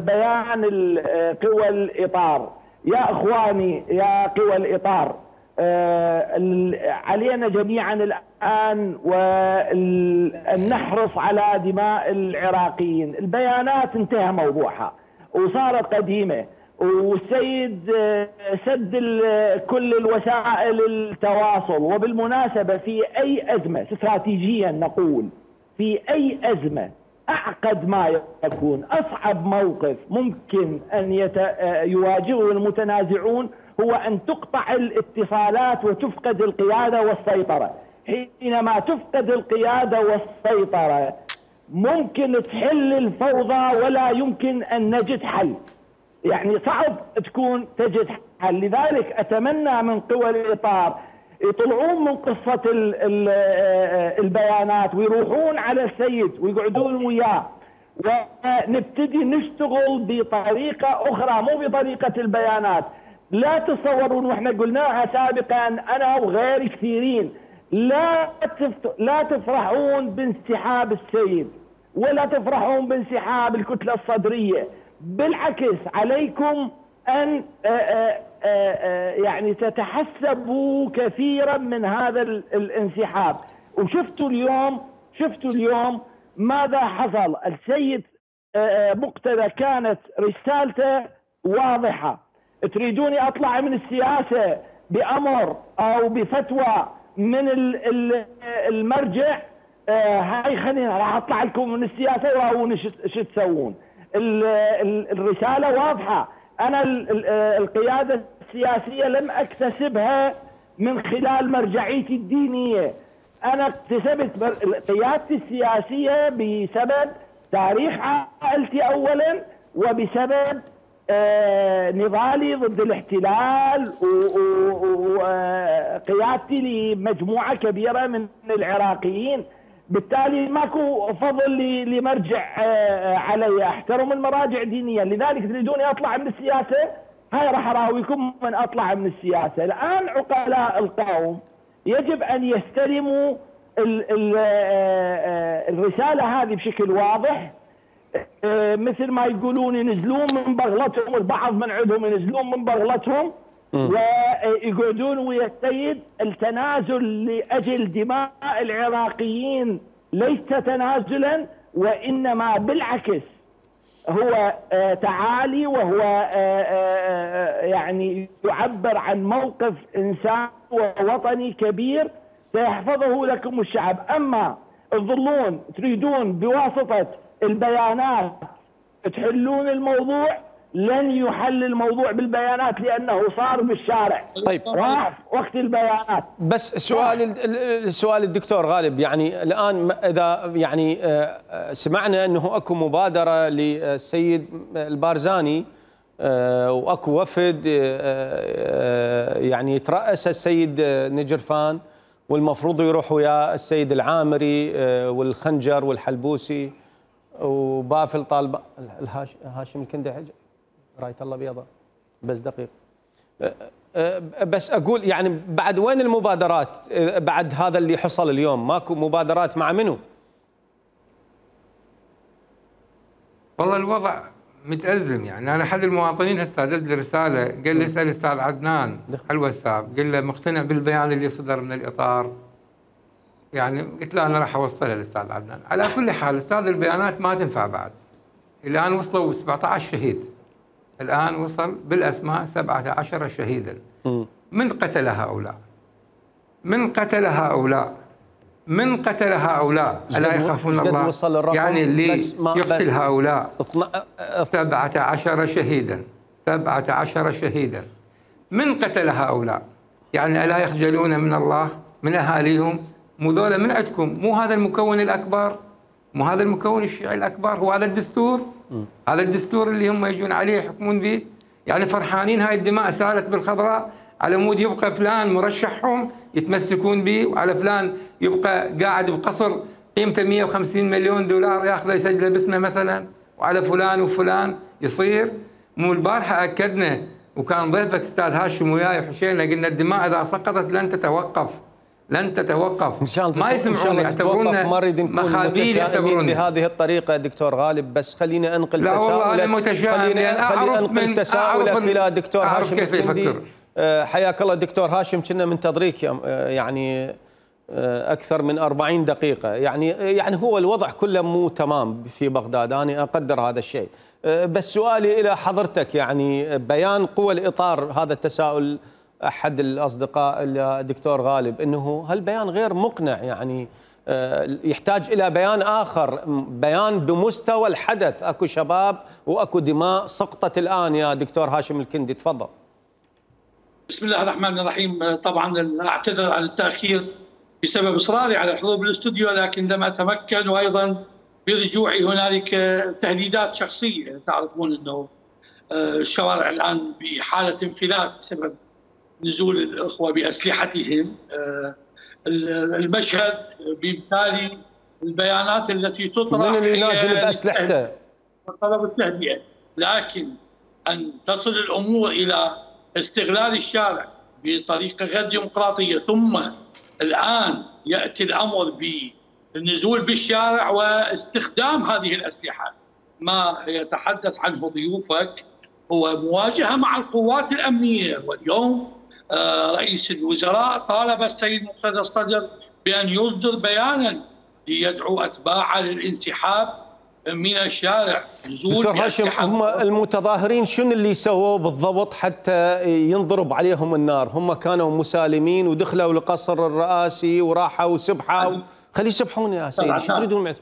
بيان قوى الاطار. يا اخواني يا قوى الاطار، علينا جميعا الان وان نحرص على دماء العراقيين. البيانات انتهى موضوعها وصارت قديمه، والسيد سد كل الوسائل التواصل. وبالمناسبه في اي ازمه استراتيجيا نقول في اي ازمه أعقد ما يكون، أصعب موقف ممكن أن يواجهه المتنازعون هو أن تقطع الاتصالات وتفقد القيادة والسيطرة. حينما تفقد القيادة والسيطرة ممكن تحل الفوضى ولا يمكن أن نجد حل. يعني صعب تجد حل. لذلك أتمنى من قوى الإطار يطلعون من قصة البيانات ويروحون على السيد ويقعدون وياه ونبتدي نشتغل بطريقة أخرى مو بطريقة البيانات. لا تصورون، واحنا قلناها سابقا أنا وغير كثيرين، لا تفرحون بانسحاب السيد ولا تفرحون بانسحاب الكتلة الصدرية. بالعكس عليكم أن يعني تتحسبوا كثيرا من هذا الانسحاب. وشفتوا اليوم ماذا حصل. السيد مقتدى كانت رسالته واضحة. تريدوني أطلع من السياسة بأمر أو بفتوى من المرجع، هاي خلينا راح أطلع لكم من السياسة وراوني شو تسوون. الرسالة واضحة. أنا القيادة السياسية لم أكتسبها من خلال مرجعيتي الدينية، أنا اكتسبت قيادتي السياسية بسبب تاريخ عائلتي أولا، وبسبب نضالي ضد الاحتلال وقيادتي لمجموعة كبيرة من العراقيين. بالتالي ماكو فضل لمرجع علي، احترم المراجع دينيا. لذلك تريدوني اطلع من السياسة، هاي راح اراويكم من اطلع من السياسة. الان عقلاء القوم يجب ان يستلموا الرسالة هذه بشكل واضح، مثل ما يقولون ينزلون من بغلتهم، البعض من عندهم ينزلون من بغلتهم ويقعدون ويا السيد. التنازل لأجل دماء العراقيين ليس تنازلا، وإنما بالعكس هو تعالي، وهو يعني يعبر عن موقف إنسان ووطني كبير سيحفظه لكم الشعب. أما تظلون تريدون بواسطة البيانات تحلون الموضوع، لن يحل الموضوع بالبيانات لأنه صار بالشارع. طيب راح وقت البيانات. بس السؤال الدكتور غالب، يعني الآن إذا يعني سمعنا أنه أكو مبادرة للسيد البارزاني وأكو وفد يعني يترأس السيد نجرفان، والمفروض يروح ويا السيد العامري والخنجر والحلبوسي وبافل طالب هاشم الكندي راية الله بيضاء. بس دقيق، بس أقول يعني بعد وين المبادرات بعد هذا اللي حصل اليوم؟ ماكو مبادرات مع منو؟ والله الوضع متأزم. يعني أنا أحد المواطنين هسه دز لي رسالة قال لي اسأل أستاذ عدنان على الواتساب، قال له مقتنع بالبيان اللي صدر من الإطار؟ يعني قلت له أنا راح أوصلها للأستاذ عدنان. على كل حال أستاذ البيانات ما تنفع بعد. الآن وصلوا 17 شهيد، الآن وصل بالأسماء 17 شهيدا. من قتل هؤلاء؟ من قتل هؤلاء؟ من قتل هؤلاء؟ ألا يخافون الله؟ يعني اللي يقتل هؤلاء 17 شهيدا، 17 شهيدا. من قتل هؤلاء؟ يعني ألا يخجلون من الله، من أهاليهم؟ مو ذولا من عندكم؟ مو هذا المكون الأكبر؟ مو هذا المكون الشيعي الأكبر؟ هو هذا الدستور؟ هذا الدستور اللي هم يجون عليه يحكمون به؟ يعني فرحانين هاي الدماء سالت بالخضراء على مود يبقى فلان مرشحهم يتمسكون به، وعلى فلان يبقى قاعد بقصر قيمته 150 مليون دولار ياخذه يسجله باسمه مثلا، وعلى فلان وفلان يصير. مو البارحه اكدنا وكان ضيفك استاذ هاشم وياي وحشينا قلنا الدماء اذا سقطت لن تتوقف، لن تتوقف. ما يسمعون، يعتبرونا مخابيل، يعتبرونا بهذه الطريقه. دكتور غالب بس خليني انقل لا تساؤلك. والله انا متشائم، خليني انقل تساؤلك الى دكتور هاشم كيف الكندي. يفكر. حياك الله دكتور هاشم، كنا منتظريك يعني اكثر من 40 دقيقه. يعني هو الوضع كله مو تمام في بغداد، انا اقدر هذا الشيء. بس سؤالي الى حضرتك، يعني بيان قوى الاطار، هذا التساؤل احد الاصدقاء الدكتور غالب، انه هالبيان غير مقنع، يعني يحتاج الى بيان اخر، بيان بمستوى الحدث. اكو شباب واكو دماء سقطت الان. يا دكتور هاشم الكندي تفضل. بسم الله الرحمن الرحيم. طبعا اعتذر عن التاخير بسبب اصراري على الحضور بالاستوديو، لكن لم اتمكن، وايضا برجوعي هنالك تهديدات شخصيه. تعرفون انه الشوارع الآن بحالة انفلات بسبب نزول الأخوة بأسلحتهم. المشهد بالتالي البيانات التي تطرح من اللي نازل بأسلحته طلب التهدئة، لكن أن تصل الأمور إلى استغلال الشارع بطريقة غير ديمقراطية ثم الآن يأتي الأمر بالنزول بالشارع واستخدام هذه الأسلحة. ما يتحدث عنه ضيوفك هو مواجهة مع القوات الأمنية، واليوم رئيس الوزراء طالب السيد مقتدى الصدر بأن يصدر بيانا ليدعو أتباعه للانسحاب من الشارع. دكتور هاشم، هم المتظاهرين شنو اللي سووا بالضبط حتى ينضرب عليهم النار؟ هم كانوا مسالمين ودخلوا لقصر الرئاسي وراحوا سبحوا. خلي يسبحون يا سيدي، شو تريدون معهم؟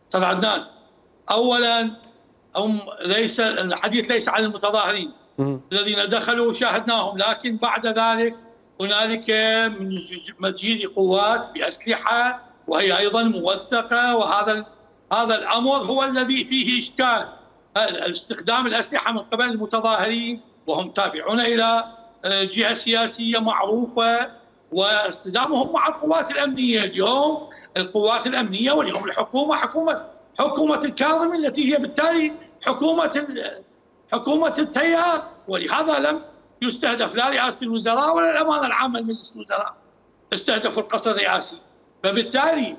استاذ عدنان، اولا هم ليس الحديث ليس عن المتظاهرين الذين دخلوا وشاهدناهم، لكن بعد ذلك هنالك من مجيء قوات بأسلحة وهي أيضا موثقة، هذا الأمر هو الذي فيه إشكال. استخدام الأسلحة من قبل المتظاهرين وهم تابعون إلى جهة سياسية معروفة، واستخدامهم مع القوات الأمنية. اليوم القوات الأمنية واليوم الحكومة حكومة الكاظمي التي هي بالتالي حكومة التيار، ولهذا لم يستهدف لا رئاسة الوزراء ولا الأمانة العامة لمجلس الوزراء، استهدفوا القصر الرئاسي. فبالتالي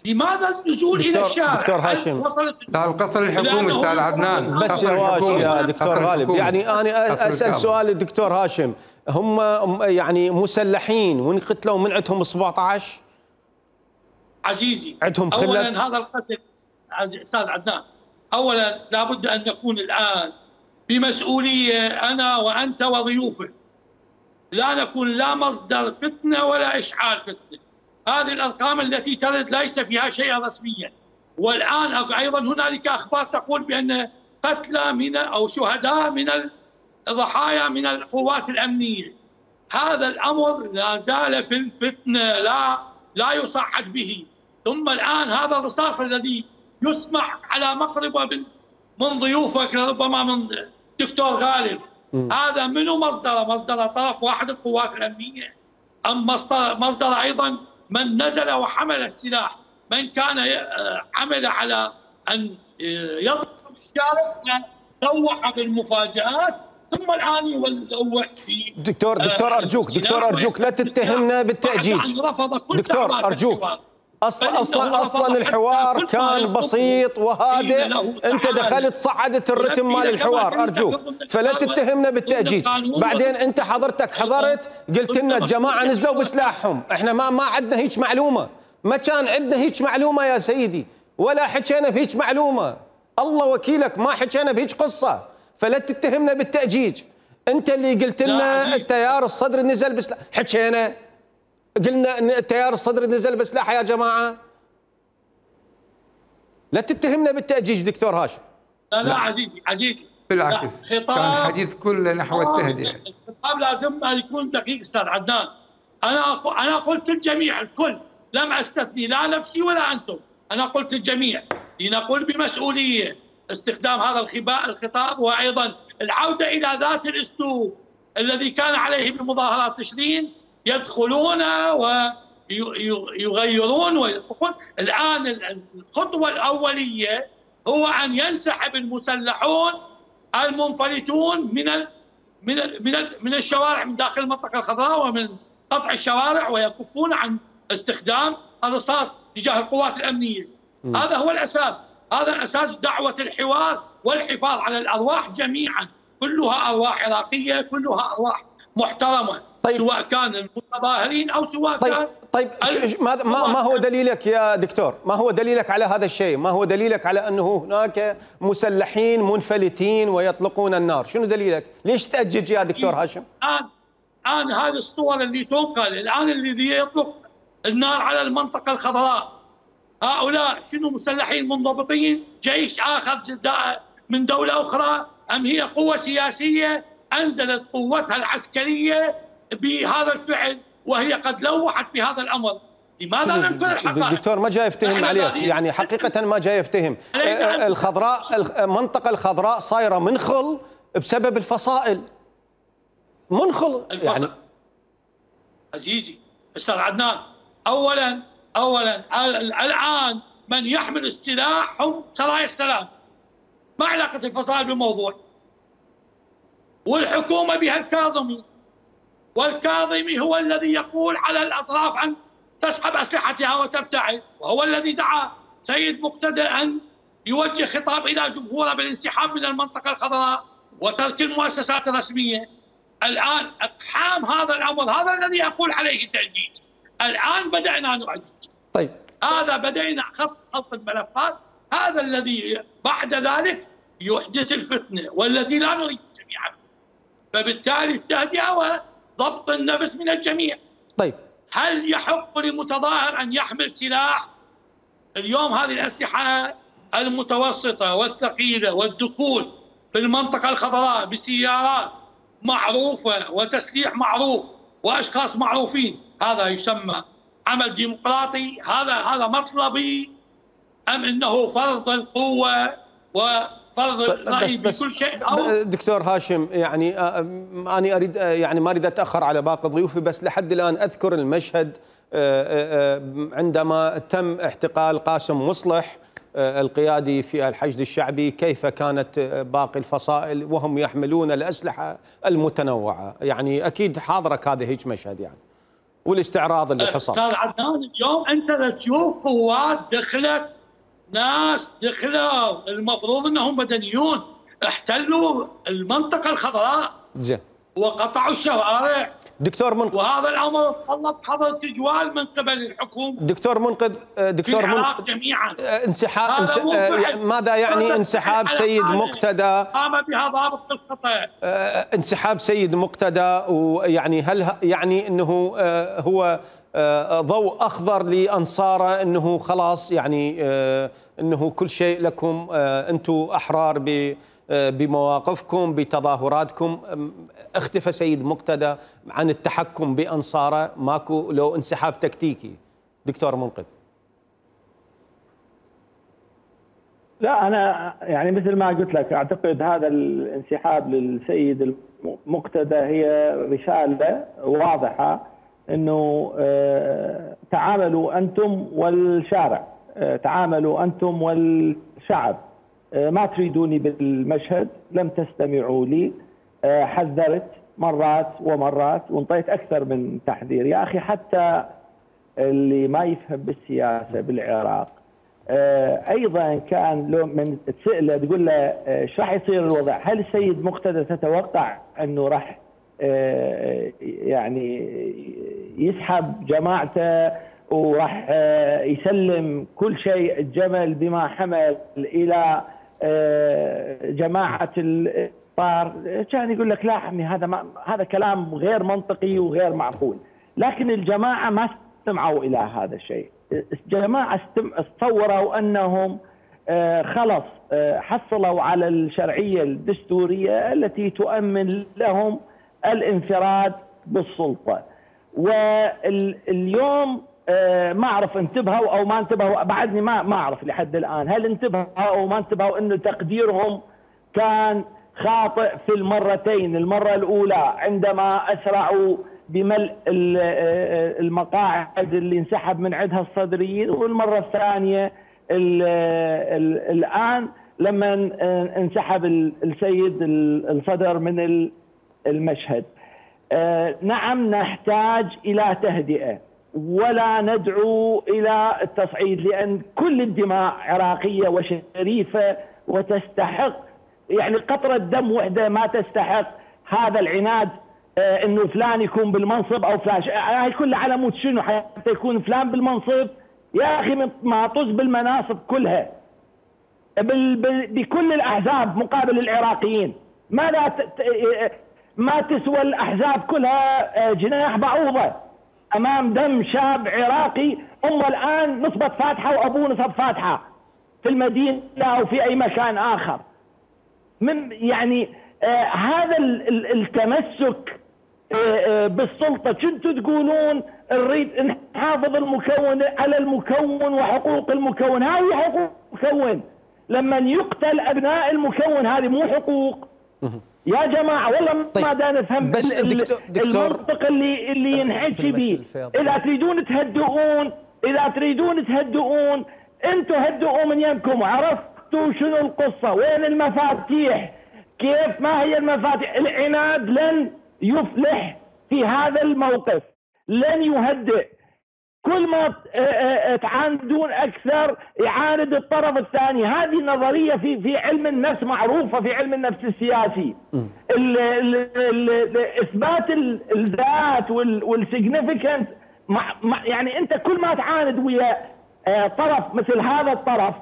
لماذا النزول إلى الشارع؟ دكتور هاشم، لا القصر الحكومي استاذ عدنان، بس يا دكتور غالب، يعني أنا أسأل سؤال الدكتور هاشم، هم يعني مسلحين وانقتلوا من عندهم 17 عزيزي. عندهم خلل. أولا هذا القتل أستاذ عدنان، أولا لابد أن نكون الآن بمسؤولية أنا وأنت وضيوفك، لا نكون لا مصدر فتنة ولا إشعال فتنة. هذه الأرقام التي ترد ليس فيها شيء رسميا، والآن أيضا هنالك أخبار تقول بأن قتلى من أو شهداء من الضحايا من القوات الأمنية. هذا الأمر لا زال في الفتنة، لا يصعد به. ثم الآن هذا الرصاص الذي يسمع على مقربة من ضيوفك ربما من دكتور غالب، هذا منو مصدر طرف واحد القوات الأمنية أم مصدر أيضا من نزل وحمل السلاح، من كان عمل على أن يضرب الشارع يروح بالمفاجآت ثم الآن يروح في دكتور أرجوك لا تتهمنا بالتأجيج. دكتور أرجوك، اصلا الحوار كان بسيط وهادئ، انت دخلت صعدت الرتم مال الحوار، ارجوك فلا تتهمنا بالتأجيج. بعدين انت حضرت قلت لنا الجماعه نزلوا بسلاحهم، احنا ما عندنا هيك معلومه، ما كان عندنا هيك معلومه يا سيدي، ولا حكينا بهيك معلومه، الله وكيلك ما حكينا بهيك قصه، فلا تتهمنا بالتأجيج. انت اللي قلت لنا التيار الصدري نزل بسلاح، حكينا قلنا ان التيار الصدري نزل بسلاحه يا جماعه. لا تتهمنا بالتأجيج دكتور هاشم. لا عزيزي بالعكس، كان الحديث كله نحو التهدئه. الخطاب لازم أن يكون دقيق استاذ عدنان. انا قلت الجميع الكل، لم استثني لا نفسي ولا انتم، انا قلت الجميع لنقول بمسؤوليه استخدام هذا الخطاب، وايضا العوده الى ذات الاسلوب الذي كان عليه بمظاهرات تشرين، يدخلون ويغيرون ويدخلون. الآن الخطوة الأولية هو أن ينسحب المسلحون المنفلتون من الشوارع من داخل المنطقة الخضراء ومن قطع الشوارع، ويكفون عن استخدام الرصاص تجاه القوات الأمنية. هذا هو الأساس، هذا الأساس دعوة الحوار والحفاظ على الأرواح جميعا، كلها أرواح عراقية، كلها أرواح محترمة. طيب. سواء كان المتظاهرين أو سواء كان ما هو دليلك يا دكتور؟ ما هو دليلك على هذا الشيء؟ ما هو دليلك على أنه هناك مسلحين منفلتين ويطلقون النار؟ شنو دليلك؟ ليش تأجج يا دكتور هاشم؟ الآن هذه الصور اللي تنقل الآن اللي يطلق النار على المنطقة الخضراء، هؤلاء شنو مسلحين منضبطين؟ جيش آخر من دولة أخرى أم هي قوة سياسية أنزلت قوتها العسكرية بهذا الفعل وهي قد لوحت بهذا الأمر؟ لماذا ننكر الحقائق؟ دكتور ما جاي يفتهم عليك، يعني حقيقة ما جاي يفتهم. الخضراء، المنطقة الخضراء صايرة منخل بسبب الفصائل. منخل يعني. عزيزي أستاذ عدنان، أولا الآن من يحمل السلاح هم سرايا السلام. ما علاقة الفصائل بالموضوع؟ والحكومة بها الكاظمي، والكاظمي هو الذي يقول على الأطراف أن تسحب أسلحتها وتبتعد، وهو الذي دعا سيد مقتدى أن يوجه خطاب إلى جمهوره بالانسحاب من المنطقة الخضراء وترك المؤسسات الرسمية. الآن إقحام هذا الأمر، هذا الذي أقول عليه التأجيج. الآن بدأنا نؤجج. طيب، هذا بدأنا خط الملفات، هذا الذي بعد ذلك يحدث الفتنة والذي لا نريد جميعا. فبالتالي التهدئة وضبط النفس من الجميع. طيب، هل يحق لمتظاهر أن يحمل سلاح؟ اليوم هذه الأسلحة المتوسطة والثقيلة والدخول في المنطقة الخضراء بسيارات معروفة وتسليح معروف وأشخاص معروفين، هذا يسمى عمل ديمقراطي؟ هذا مطلبي أم أنه فرض القوة وفرض الرأي بكل شيء؟ أو دكتور هاشم، يعني أنا أريد، يعني ما أريد أتأخر على باقي ضيوفي، بس لحد الآن أذكر المشهد عندما تم احتقال قاسم مصلح القيادي في الحشد الشعبي، كيف كانت باقي الفصائل وهم يحملون الأسلحة المتنوعة. يعني أكيد حاضرك هذا هيك مشهد يعني، والاستعراض اللي حصل. أستاذ عدنان، اليوم أنت تشوف قوات دخلت، ناس دخلوا المفروض أنهم مدنيون، احتلوا المنطقة الخضراء زين وقطعوا الشوارع. دكتور منقذ، وهذا الامر طلب حظر تجوال من قبل الحكومه. دكتور منقذ، دكتور منقذ جميعا. انسحاب ماذا يعني انسحاب سيد مقتدى؟ قام بها ضابط القطع. انسحاب سيد مقتدى، ويعني هل يعني انه هو ضوء اخضر لانصاره انه خلاص يعني انه كل شيء لكم، انتم احرار بمواقفكم بتظاهراتكم؟ اختفى سيد مقتدى عن التحكم بأنصاره، ماكو لو انسحاب تكتيكي؟ دكتور منقذ. لا، أنا يعني مثل ما قلت لك أعتقد هذا الانسحاب للسيد المقتدى هي رسالة واضحة أنه تعاملوا أنتم والشارع، تعاملوا أنتم والشعب، ما تريدوني بالمشهد، لم تستمعوا لي، حذرت مرات ومرات وانطيت أكثر من تحذير. يا أخي حتى اللي ما يفهم بالسياسة بالعراق أيضا كان لو من تسأله تقول له ايش راح يصير الوضع، هل السيد مقتدى تتوقع أنه راح يعني يسحب جماعته وراح يسلم كل شيء الجمل بما حمل إلى جماعة الطار؟ كان يقول لك لا عمي، هذا كلام غير منطقي وغير معقول. لكن الجماعة ما استمعوا إلى هذا الشيء. الجماعة تصوروا أنهم خلص حصلوا على الشرعية الدستورية التي تؤمن لهم الانفراد بالسلطة. واليوم ما أعرف انتبهوا أو ما انتبهوا، بعدني ما أعرف لحد الآن هل انتبهوا أو ما انتبهوا أنه تقديرهم كان خاطئ في المرتين. المرة الأولى عندما أسرعوا بملء المقاعد اللي انسحب من عندها الصدريين، والمرة الثانية الآن لما انسحب السيد الصدر من المشهد. نعم نحتاج إلى تهدئة ولا ندعو إلى التصعيد، لأن كل الدماء عراقية وشريفة وتستحق، يعني قطرة دم وحدة ما تستحق هذا العناد انه فلان يكون بالمنصب او فلان. هاي كلها على مود شنو حتى يكون فلان بالمنصب؟ يا اخي ما طز بالمناصب كلها بكل الاحزاب مقابل العراقيين. ماذا ما تسوى الاحزاب كلها جناح بعوضه امام دم شاب عراقي امه الان نصبت فاتحه وابوه نصب فاتحه في المدينه او في اي مكان اخر. من يعني هذا التمسك بالسلطه كنتوا تقولون نريد نحافظ المكون على المكون وحقوق المكون. هذه حقوق المكون. لما يقتل ابناء المكون هذه مو حقوق يا جماعه؟ والله طيب. ما دا نفهم بس دكتور المنطق اللي ينحكي به. اذا تريدون تهدئون انتم هدئوا من يمكم. عرفتوا شنو القصه؟ وين المفاتيح؟ كيف؟ ما هي المفاتيح؟ العناد لن يفلح في هذا الموقف، لن يهدئ. كل ما تعاندون اكثر يعاند الطرف الثاني. هذه نظريه في علم النفس معروفه، في علم النفس السياسي. اثبات الذات والسيجنيفيكانس. يعني انت كل ما تعاند ويا طرف مثل هذا الطرف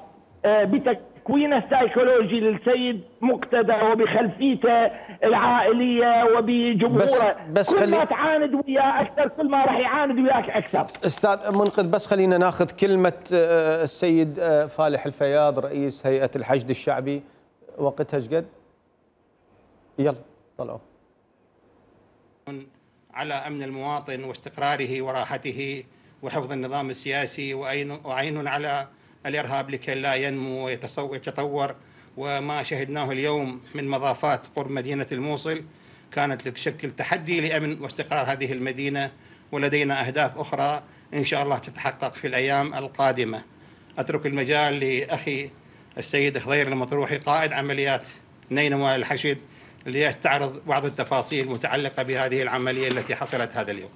بتكوينه السيكولوجي للسيد مقتدى وبخلفيته العائليه وبجمهوره، بس كل ما تعاند وياه اكثر كل ما راح يعاند وياك اكثر. استاذ منقذ، بس خلينا ناخذ كلمه السيد فالح الفياض رئيس هيئه الحشد الشعبي. وقتها ايش قد؟ يلا طلعوا. على امن المواطن واستقراره وراحته وحفظ النظام السياسي، وعين على الارهاب لكي لا ينمو ويتطور. وما شهدناه اليوم من مضافات قرب مدينه الموصل كانت لتشكل تحدي لامن واستقرار هذه المدينه، ولدينا اهداف اخرى ان شاء الله تتحقق في الايام القادمه. اترك المجال لاخي السيد خضير المطروحي قائد عمليات نينوى الحشد ليستعرض بعض التفاصيل المتعلقه بهذه العمليه التي حصلت هذا اليوم.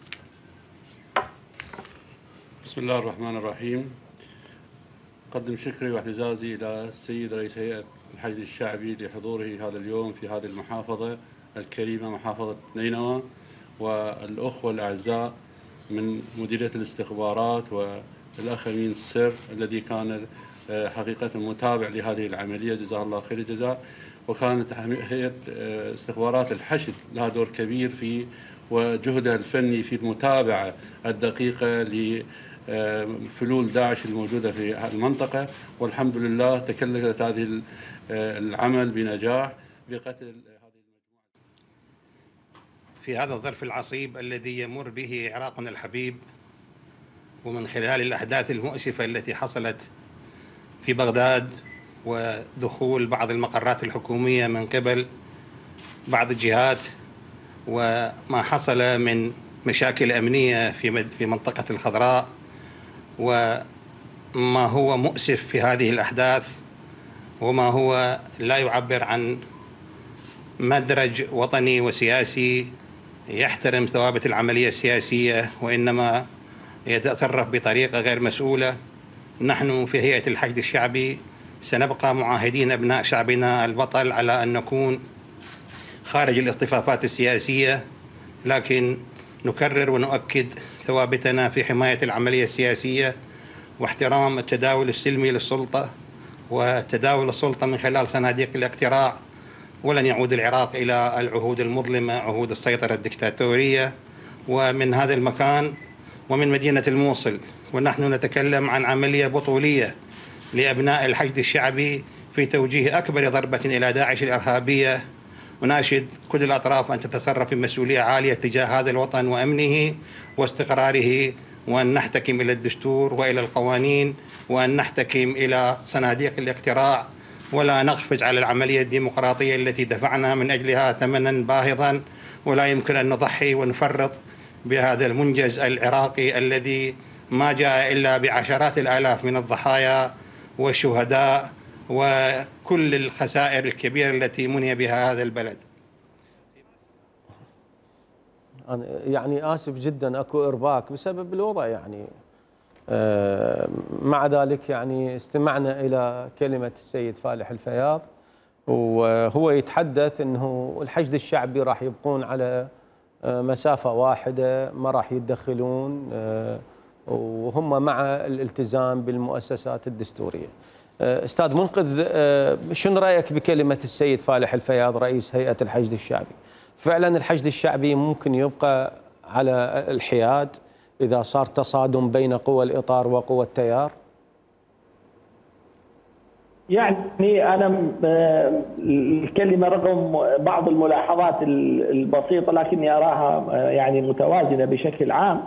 بسم الله الرحمن الرحيم. أقدم شكري واعتزازي إلى السيد رئيس هيئة الحشد الشعبي لحضوره هذا اليوم في هذه المحافظة الكريمة، محافظة نينوى، والأخوة الأعزاء من مديرية الاستخبارات والأخ أمين السر الذي كان حقيقة متابع لهذه العملية، جزاه الله خير الجزاء. وكانت هيئة استخبارات الحشد لها دور كبير في وجهدها الفني في المتابعة الدقيقة لفلول داعش الموجودة في المنطقة، والحمد لله تكللت هذه العمل بنجاح بقتل هذه المجموعة. في هذا الظرف العصيب الذي يمر به عراقنا الحبيب، ومن خلال الأحداث المؤسفة التي حصلت في بغداد ودخول بعض المقرات الحكومية من قبل بعض الجهات، وما حصل من مشاكل أمنية في منطقة الخضراء، وما هو مؤسف في هذه الأحداث، وما هو لا يعبر عن مدرج وطني وسياسي يحترم ثوابت العملية السياسية، وإنما يتصرف بطريقة غير مسؤولة. نحن في هيئة الحشد الشعبي سنبقى معاهدين أبناء شعبنا البطل على أن نكون خارج الاصطفافات السياسية، لكن نكرر ونؤكد ثوابتنا في حماية العملية السياسية واحترام التداول السلمي للسلطة وتداول السلطة من خلال صناديق الاقتراع. ولن يعود العراق إلى العهود المظلمة، عهود السيطرة الدكتاتورية. ومن هذا المكان ومن مدينة الموصل ونحن نتكلم عن عملية بطولية لأبناء الحشد الشعبي في توجيه أكبر ضربة إلى داعش الإرهابية. وناشد كل الأطراف أن تتصرف بمسؤولية عالية تجاه هذا الوطن وأمنه واستقراره، وأن نحتكم إلى الدستور وإلى القوانين، وأن نحتكم إلى صناديق الاقتراع، ولا نقفز على العملية الديمقراطية التي دفعنا من أجلها ثمنا باهظا. ولا يمكن أن نضحي ونفرط بهذا المنجز العراقي الذي ما جاء إلا بعشرات الآلاف من الضحايا والشهداء وكل الخسائر الكبيرة التي مني بها هذا البلد. أنا يعني آسف جدا أكو إرباك بسبب الوضع، يعني مع ذلك يعني استمعنا إلى كلمة السيد فالح الفياض، وهو يتحدث أنه الحشد الشعبي راح يبقون على مسافة واحدة، ما راح يتدخلون، وهم مع الالتزام بالمؤسسات الدستورية. أستاذ منقذ، شنو رأيك بكلمة السيد فالح الفياض رئيس هيئة الحشد الشعبي؟ فعلا الحشد الشعبي ممكن يبقى على الحياد إذا صار تصادم بين قوى الإطار وقوى التيار؟ يعني أنا الكلمة رغم بعض الملاحظات البسيطة لكني أراها يعني متوازنة بشكل عام.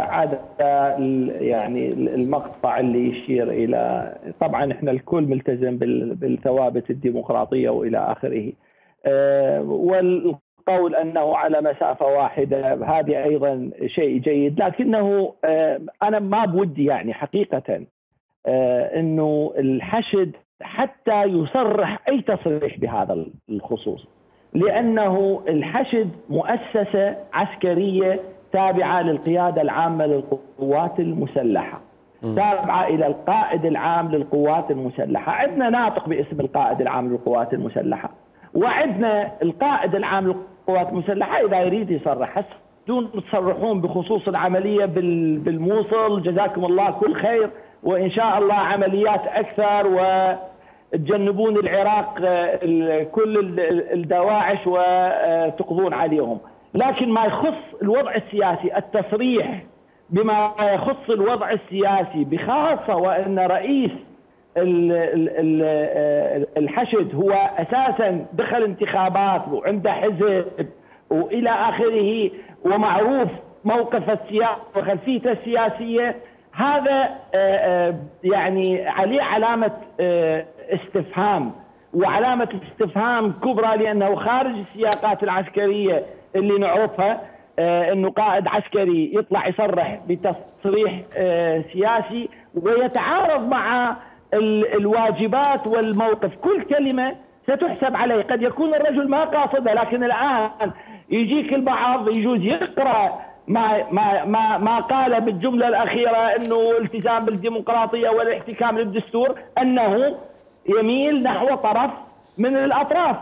عادة يعني المقطع اللي يشير إلى، طبعا إحنا الكل ملتزم بالثوابت الديمقراطية وإلى آخره، والقول أنه على مسافة واحدة هذه أيضا شيء جيد، لكنه أنا ما بودي يعني حقيقة انه الحشد حتى يصرح اي تصريح بهذا الخصوص، لانه الحشد مؤسسه عسكريه تابعه للقياده العامه للقوات المسلحه، تابعه الى القائد العام للقوات المسلحه. عندنا ناطق باسم القائد العام للقوات المسلحه، وعندنا القائد العام للقوات المسلحه اذا يريد يصرح. دون تصرحون بخصوص العمليه بالموصل، جزاكم الله كل خير، وإن شاء الله عمليات أكثر، وتجنبون العراق كل الدواعش وتقضون عليهم. لكن ما يخص الوضع السياسي، التصريح بما يخص الوضع السياسي بخاصة وأن رئيس الحشد هو أساسا دخل انتخابات وعنده حزب وإلى آخره، ومعروف موقف السياسي وخلفيته السياسية، هذا يعني عليه علامة استفهام، وعلامة استفهام كبرى، لأنه خارج السياقات العسكرية اللي نعرفها. أنه قائد عسكري يطلع يصرح بتصريح سياسي ويتعارض مع الواجبات والموقف، كل كلمة ستحسب عليه. قد يكون الرجل ما قاصده، لكن الآن يجيك البعض يجوز يقرأ ما قال بالجملة الأخيرة أنه التزام بالديمقراطية والاحتكام للدستور، أنه يميل نحو طرف من الأطراف.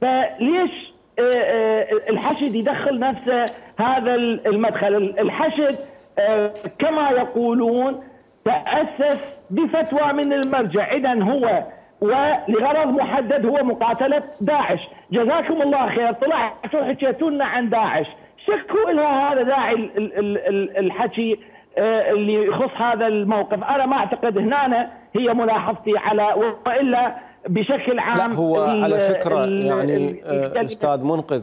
فليش الحشد يدخل نفسه هذا المدخل؟ الحشد كما يقولون تأسس بفتوى من المرجع، إذن هو ولغرض محدد هو مقاتلة داعش. جزاكم الله خير، طلعتوا حكيتوا لنا عن داعش، شكوا لها هذا داعي الحكي اللي يخص هذا الموقف. أنا ما أعتقد هنا هي ملاحظتي على، وإلا بشكل عام. لا، هو على فكرة يعني أستاذ منقذ،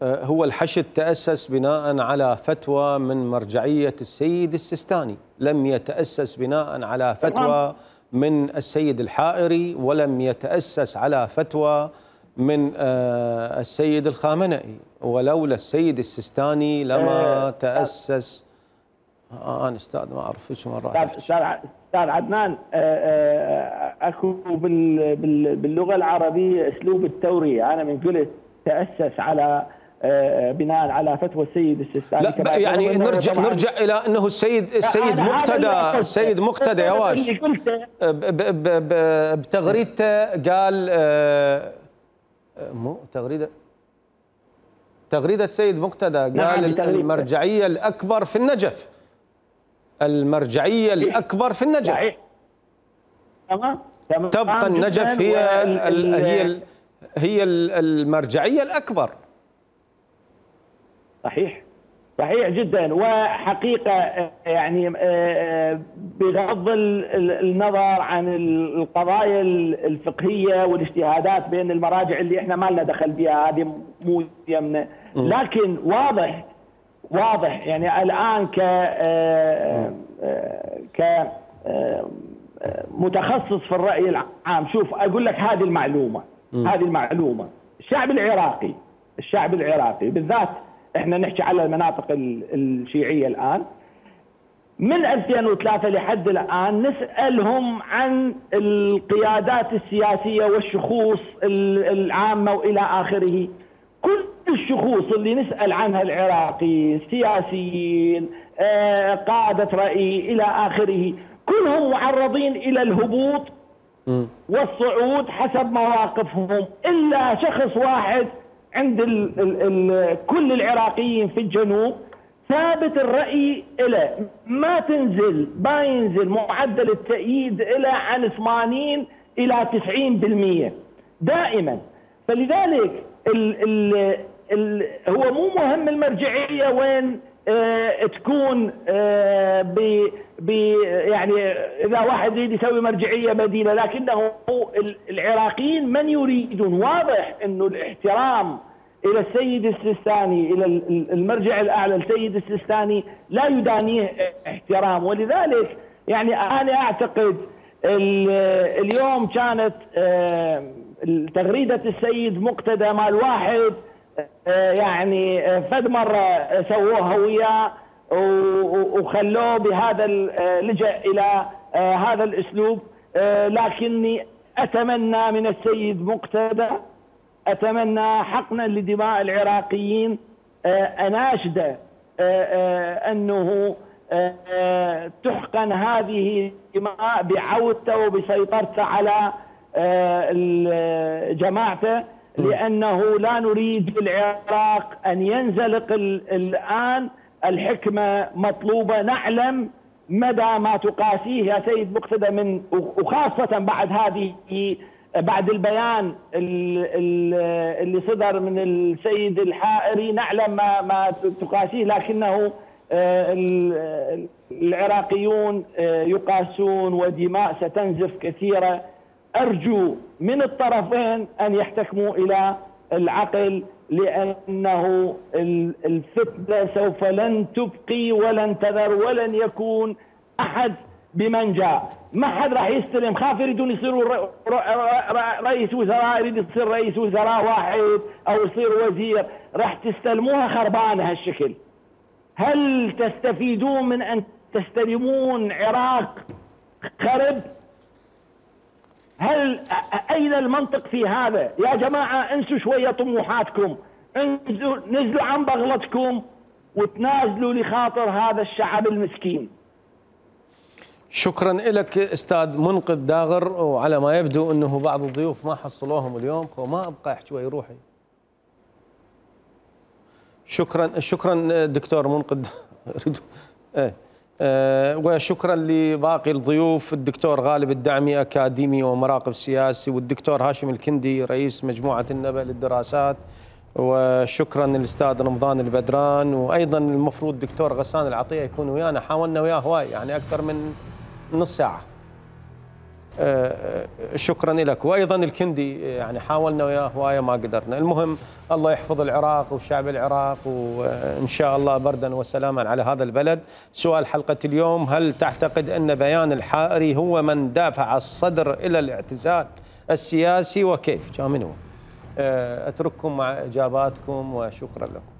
هو الحشد تأسس بناء على فتوى من مرجعية السيد السيستاني، لم يتأسس بناء على فتوى من السيد الحائري، ولم يتأسس على فتوى من السيد الخامنئي، ولولا السيد السيستاني لما تأسس. أنا أستاذ ما أعرف إيش مرات. أستاذ عدنان، أكو باللغة العربية أسلوب التورية. أنا من قلت تأسس على بناء على فتوى السيد السيستاني. لا يعني نرجع إلى أنه السيد مقتدى يا واش بتغريدته قال مو تغريدة السيد مقتدى قال المرجعية الأكبر في النجف، المرجعية الأكبر في النجف. تبقى النجف هي المرجعية الأكبر. صحيح جدا. وحقيقة يعني بغض النظر عن القضايا الفقهية والاجتهادات بين المراجع اللي احنا ما لنا دخل بها، هذه مو يمنا، لكن واضح يعني الآن متخصص في الرأي العام. شوف أقول لك هذه المعلومة، الشعب العراقي بالذات، احنا نحكي على المناطق الشيعية الآن، من 2003 لحد الآن نسألهم عن القيادات السياسية والشخوص العامة وإلى آخره. كل الشخوص اللي نسأل عنها العراقي، سياسيين، قادة رأي إلى آخره، كلهم معرضين إلى الهبوط والصعود حسب مواقفهم، إلا شخص واحد عند كل العراقيين في الجنوب ثابت الرأي إلى ما ينزل معدل التأييد إلى عن 80 إلى 90% دائما. فلذلك هو مو مهم المرجعية وين تكون يعني اذا واحد يريد يسوي مرجعيه بديله، لكنه العراقيين من يريدون، واضح انه الاحترام الى السيد السيستاني، الى المرجع الاعلى السيد السيستاني لا يدانيه احترام. ولذلك يعني انا اعتقد اليوم كانت تغريده السيد مقتدى مال واحد يعني فد مره سووها وياه وخلوه بهذا لجأ الى هذا الاسلوب. لكني اتمنى من السيد مقتدى، اتمنى حقنا لدماء العراقيين، اناشده انه تحقن هذه الدماء بعودته وبسيطرته على جماعته، لانه لا نريد بالعراق ان ينزلق الان. الحكمه مطلوبه، نعلم مدى ما تقاسيه يا سيد مقتدى من، وخاصه بعد البيان اللي صدر من السيد الحائري، نعلم ما تقاسيه، لكنه العراقيون يقاسون ودماء ستنزف كثيرة. أرجو من الطرفين أن يحتكموا إلى العقل، لأنه الفتنة سوف لن تبقي ولن تذر ولن يكون أحد بمنجا. ما حد راح يستلم، خاف يريدون يصيروا رئيس وزراء، يريد يصير رئيس وزراء واحد أو يصير وزير، راح تستلموها خربانة هالشكل. هل تستفيدون من أن تستلمون عراق خرب؟ أين المنطق في هذا؟ يا جماعة انسوا شوية طموحاتكم، نزلوا عن بغلتكم وتنازلوا لخاطر هذا الشعب المسكين. شكرا لك استاذ منقذ داغر. وعلى ما يبدو انه بعض الضيوف ما حصلوهم اليوم، وما ابقى احكي شوي روحي. شكرا دكتور منقذ. وشكرا لباقي الضيوف، الدكتور غالب الدعمي اكاديمي ومراقب سياسي، والدكتور هاشم الكندي رئيس مجموعه النبأ للدراسات، وشكرا للاستاذ رمضان البدران، وايضا المفروض الدكتور غسان العطيه يكون ويانا، حاولنا وياه هواي يعني اكثر من نص ساعه. شكرا لك، وايضا الكندي يعني حاولنا وياه هوايه ما قدرنا. المهم الله يحفظ العراق وشعب العراق، وان شاء الله بردا وسلاما على هذا البلد. سؤال حلقه اليوم: هل تعتقد ان بيان الحائري هو من دافع الصدر الى الاعتزال السياسي، وكيف؟ كان منو؟ اترككم مع اجاباتكم وشكرا لكم.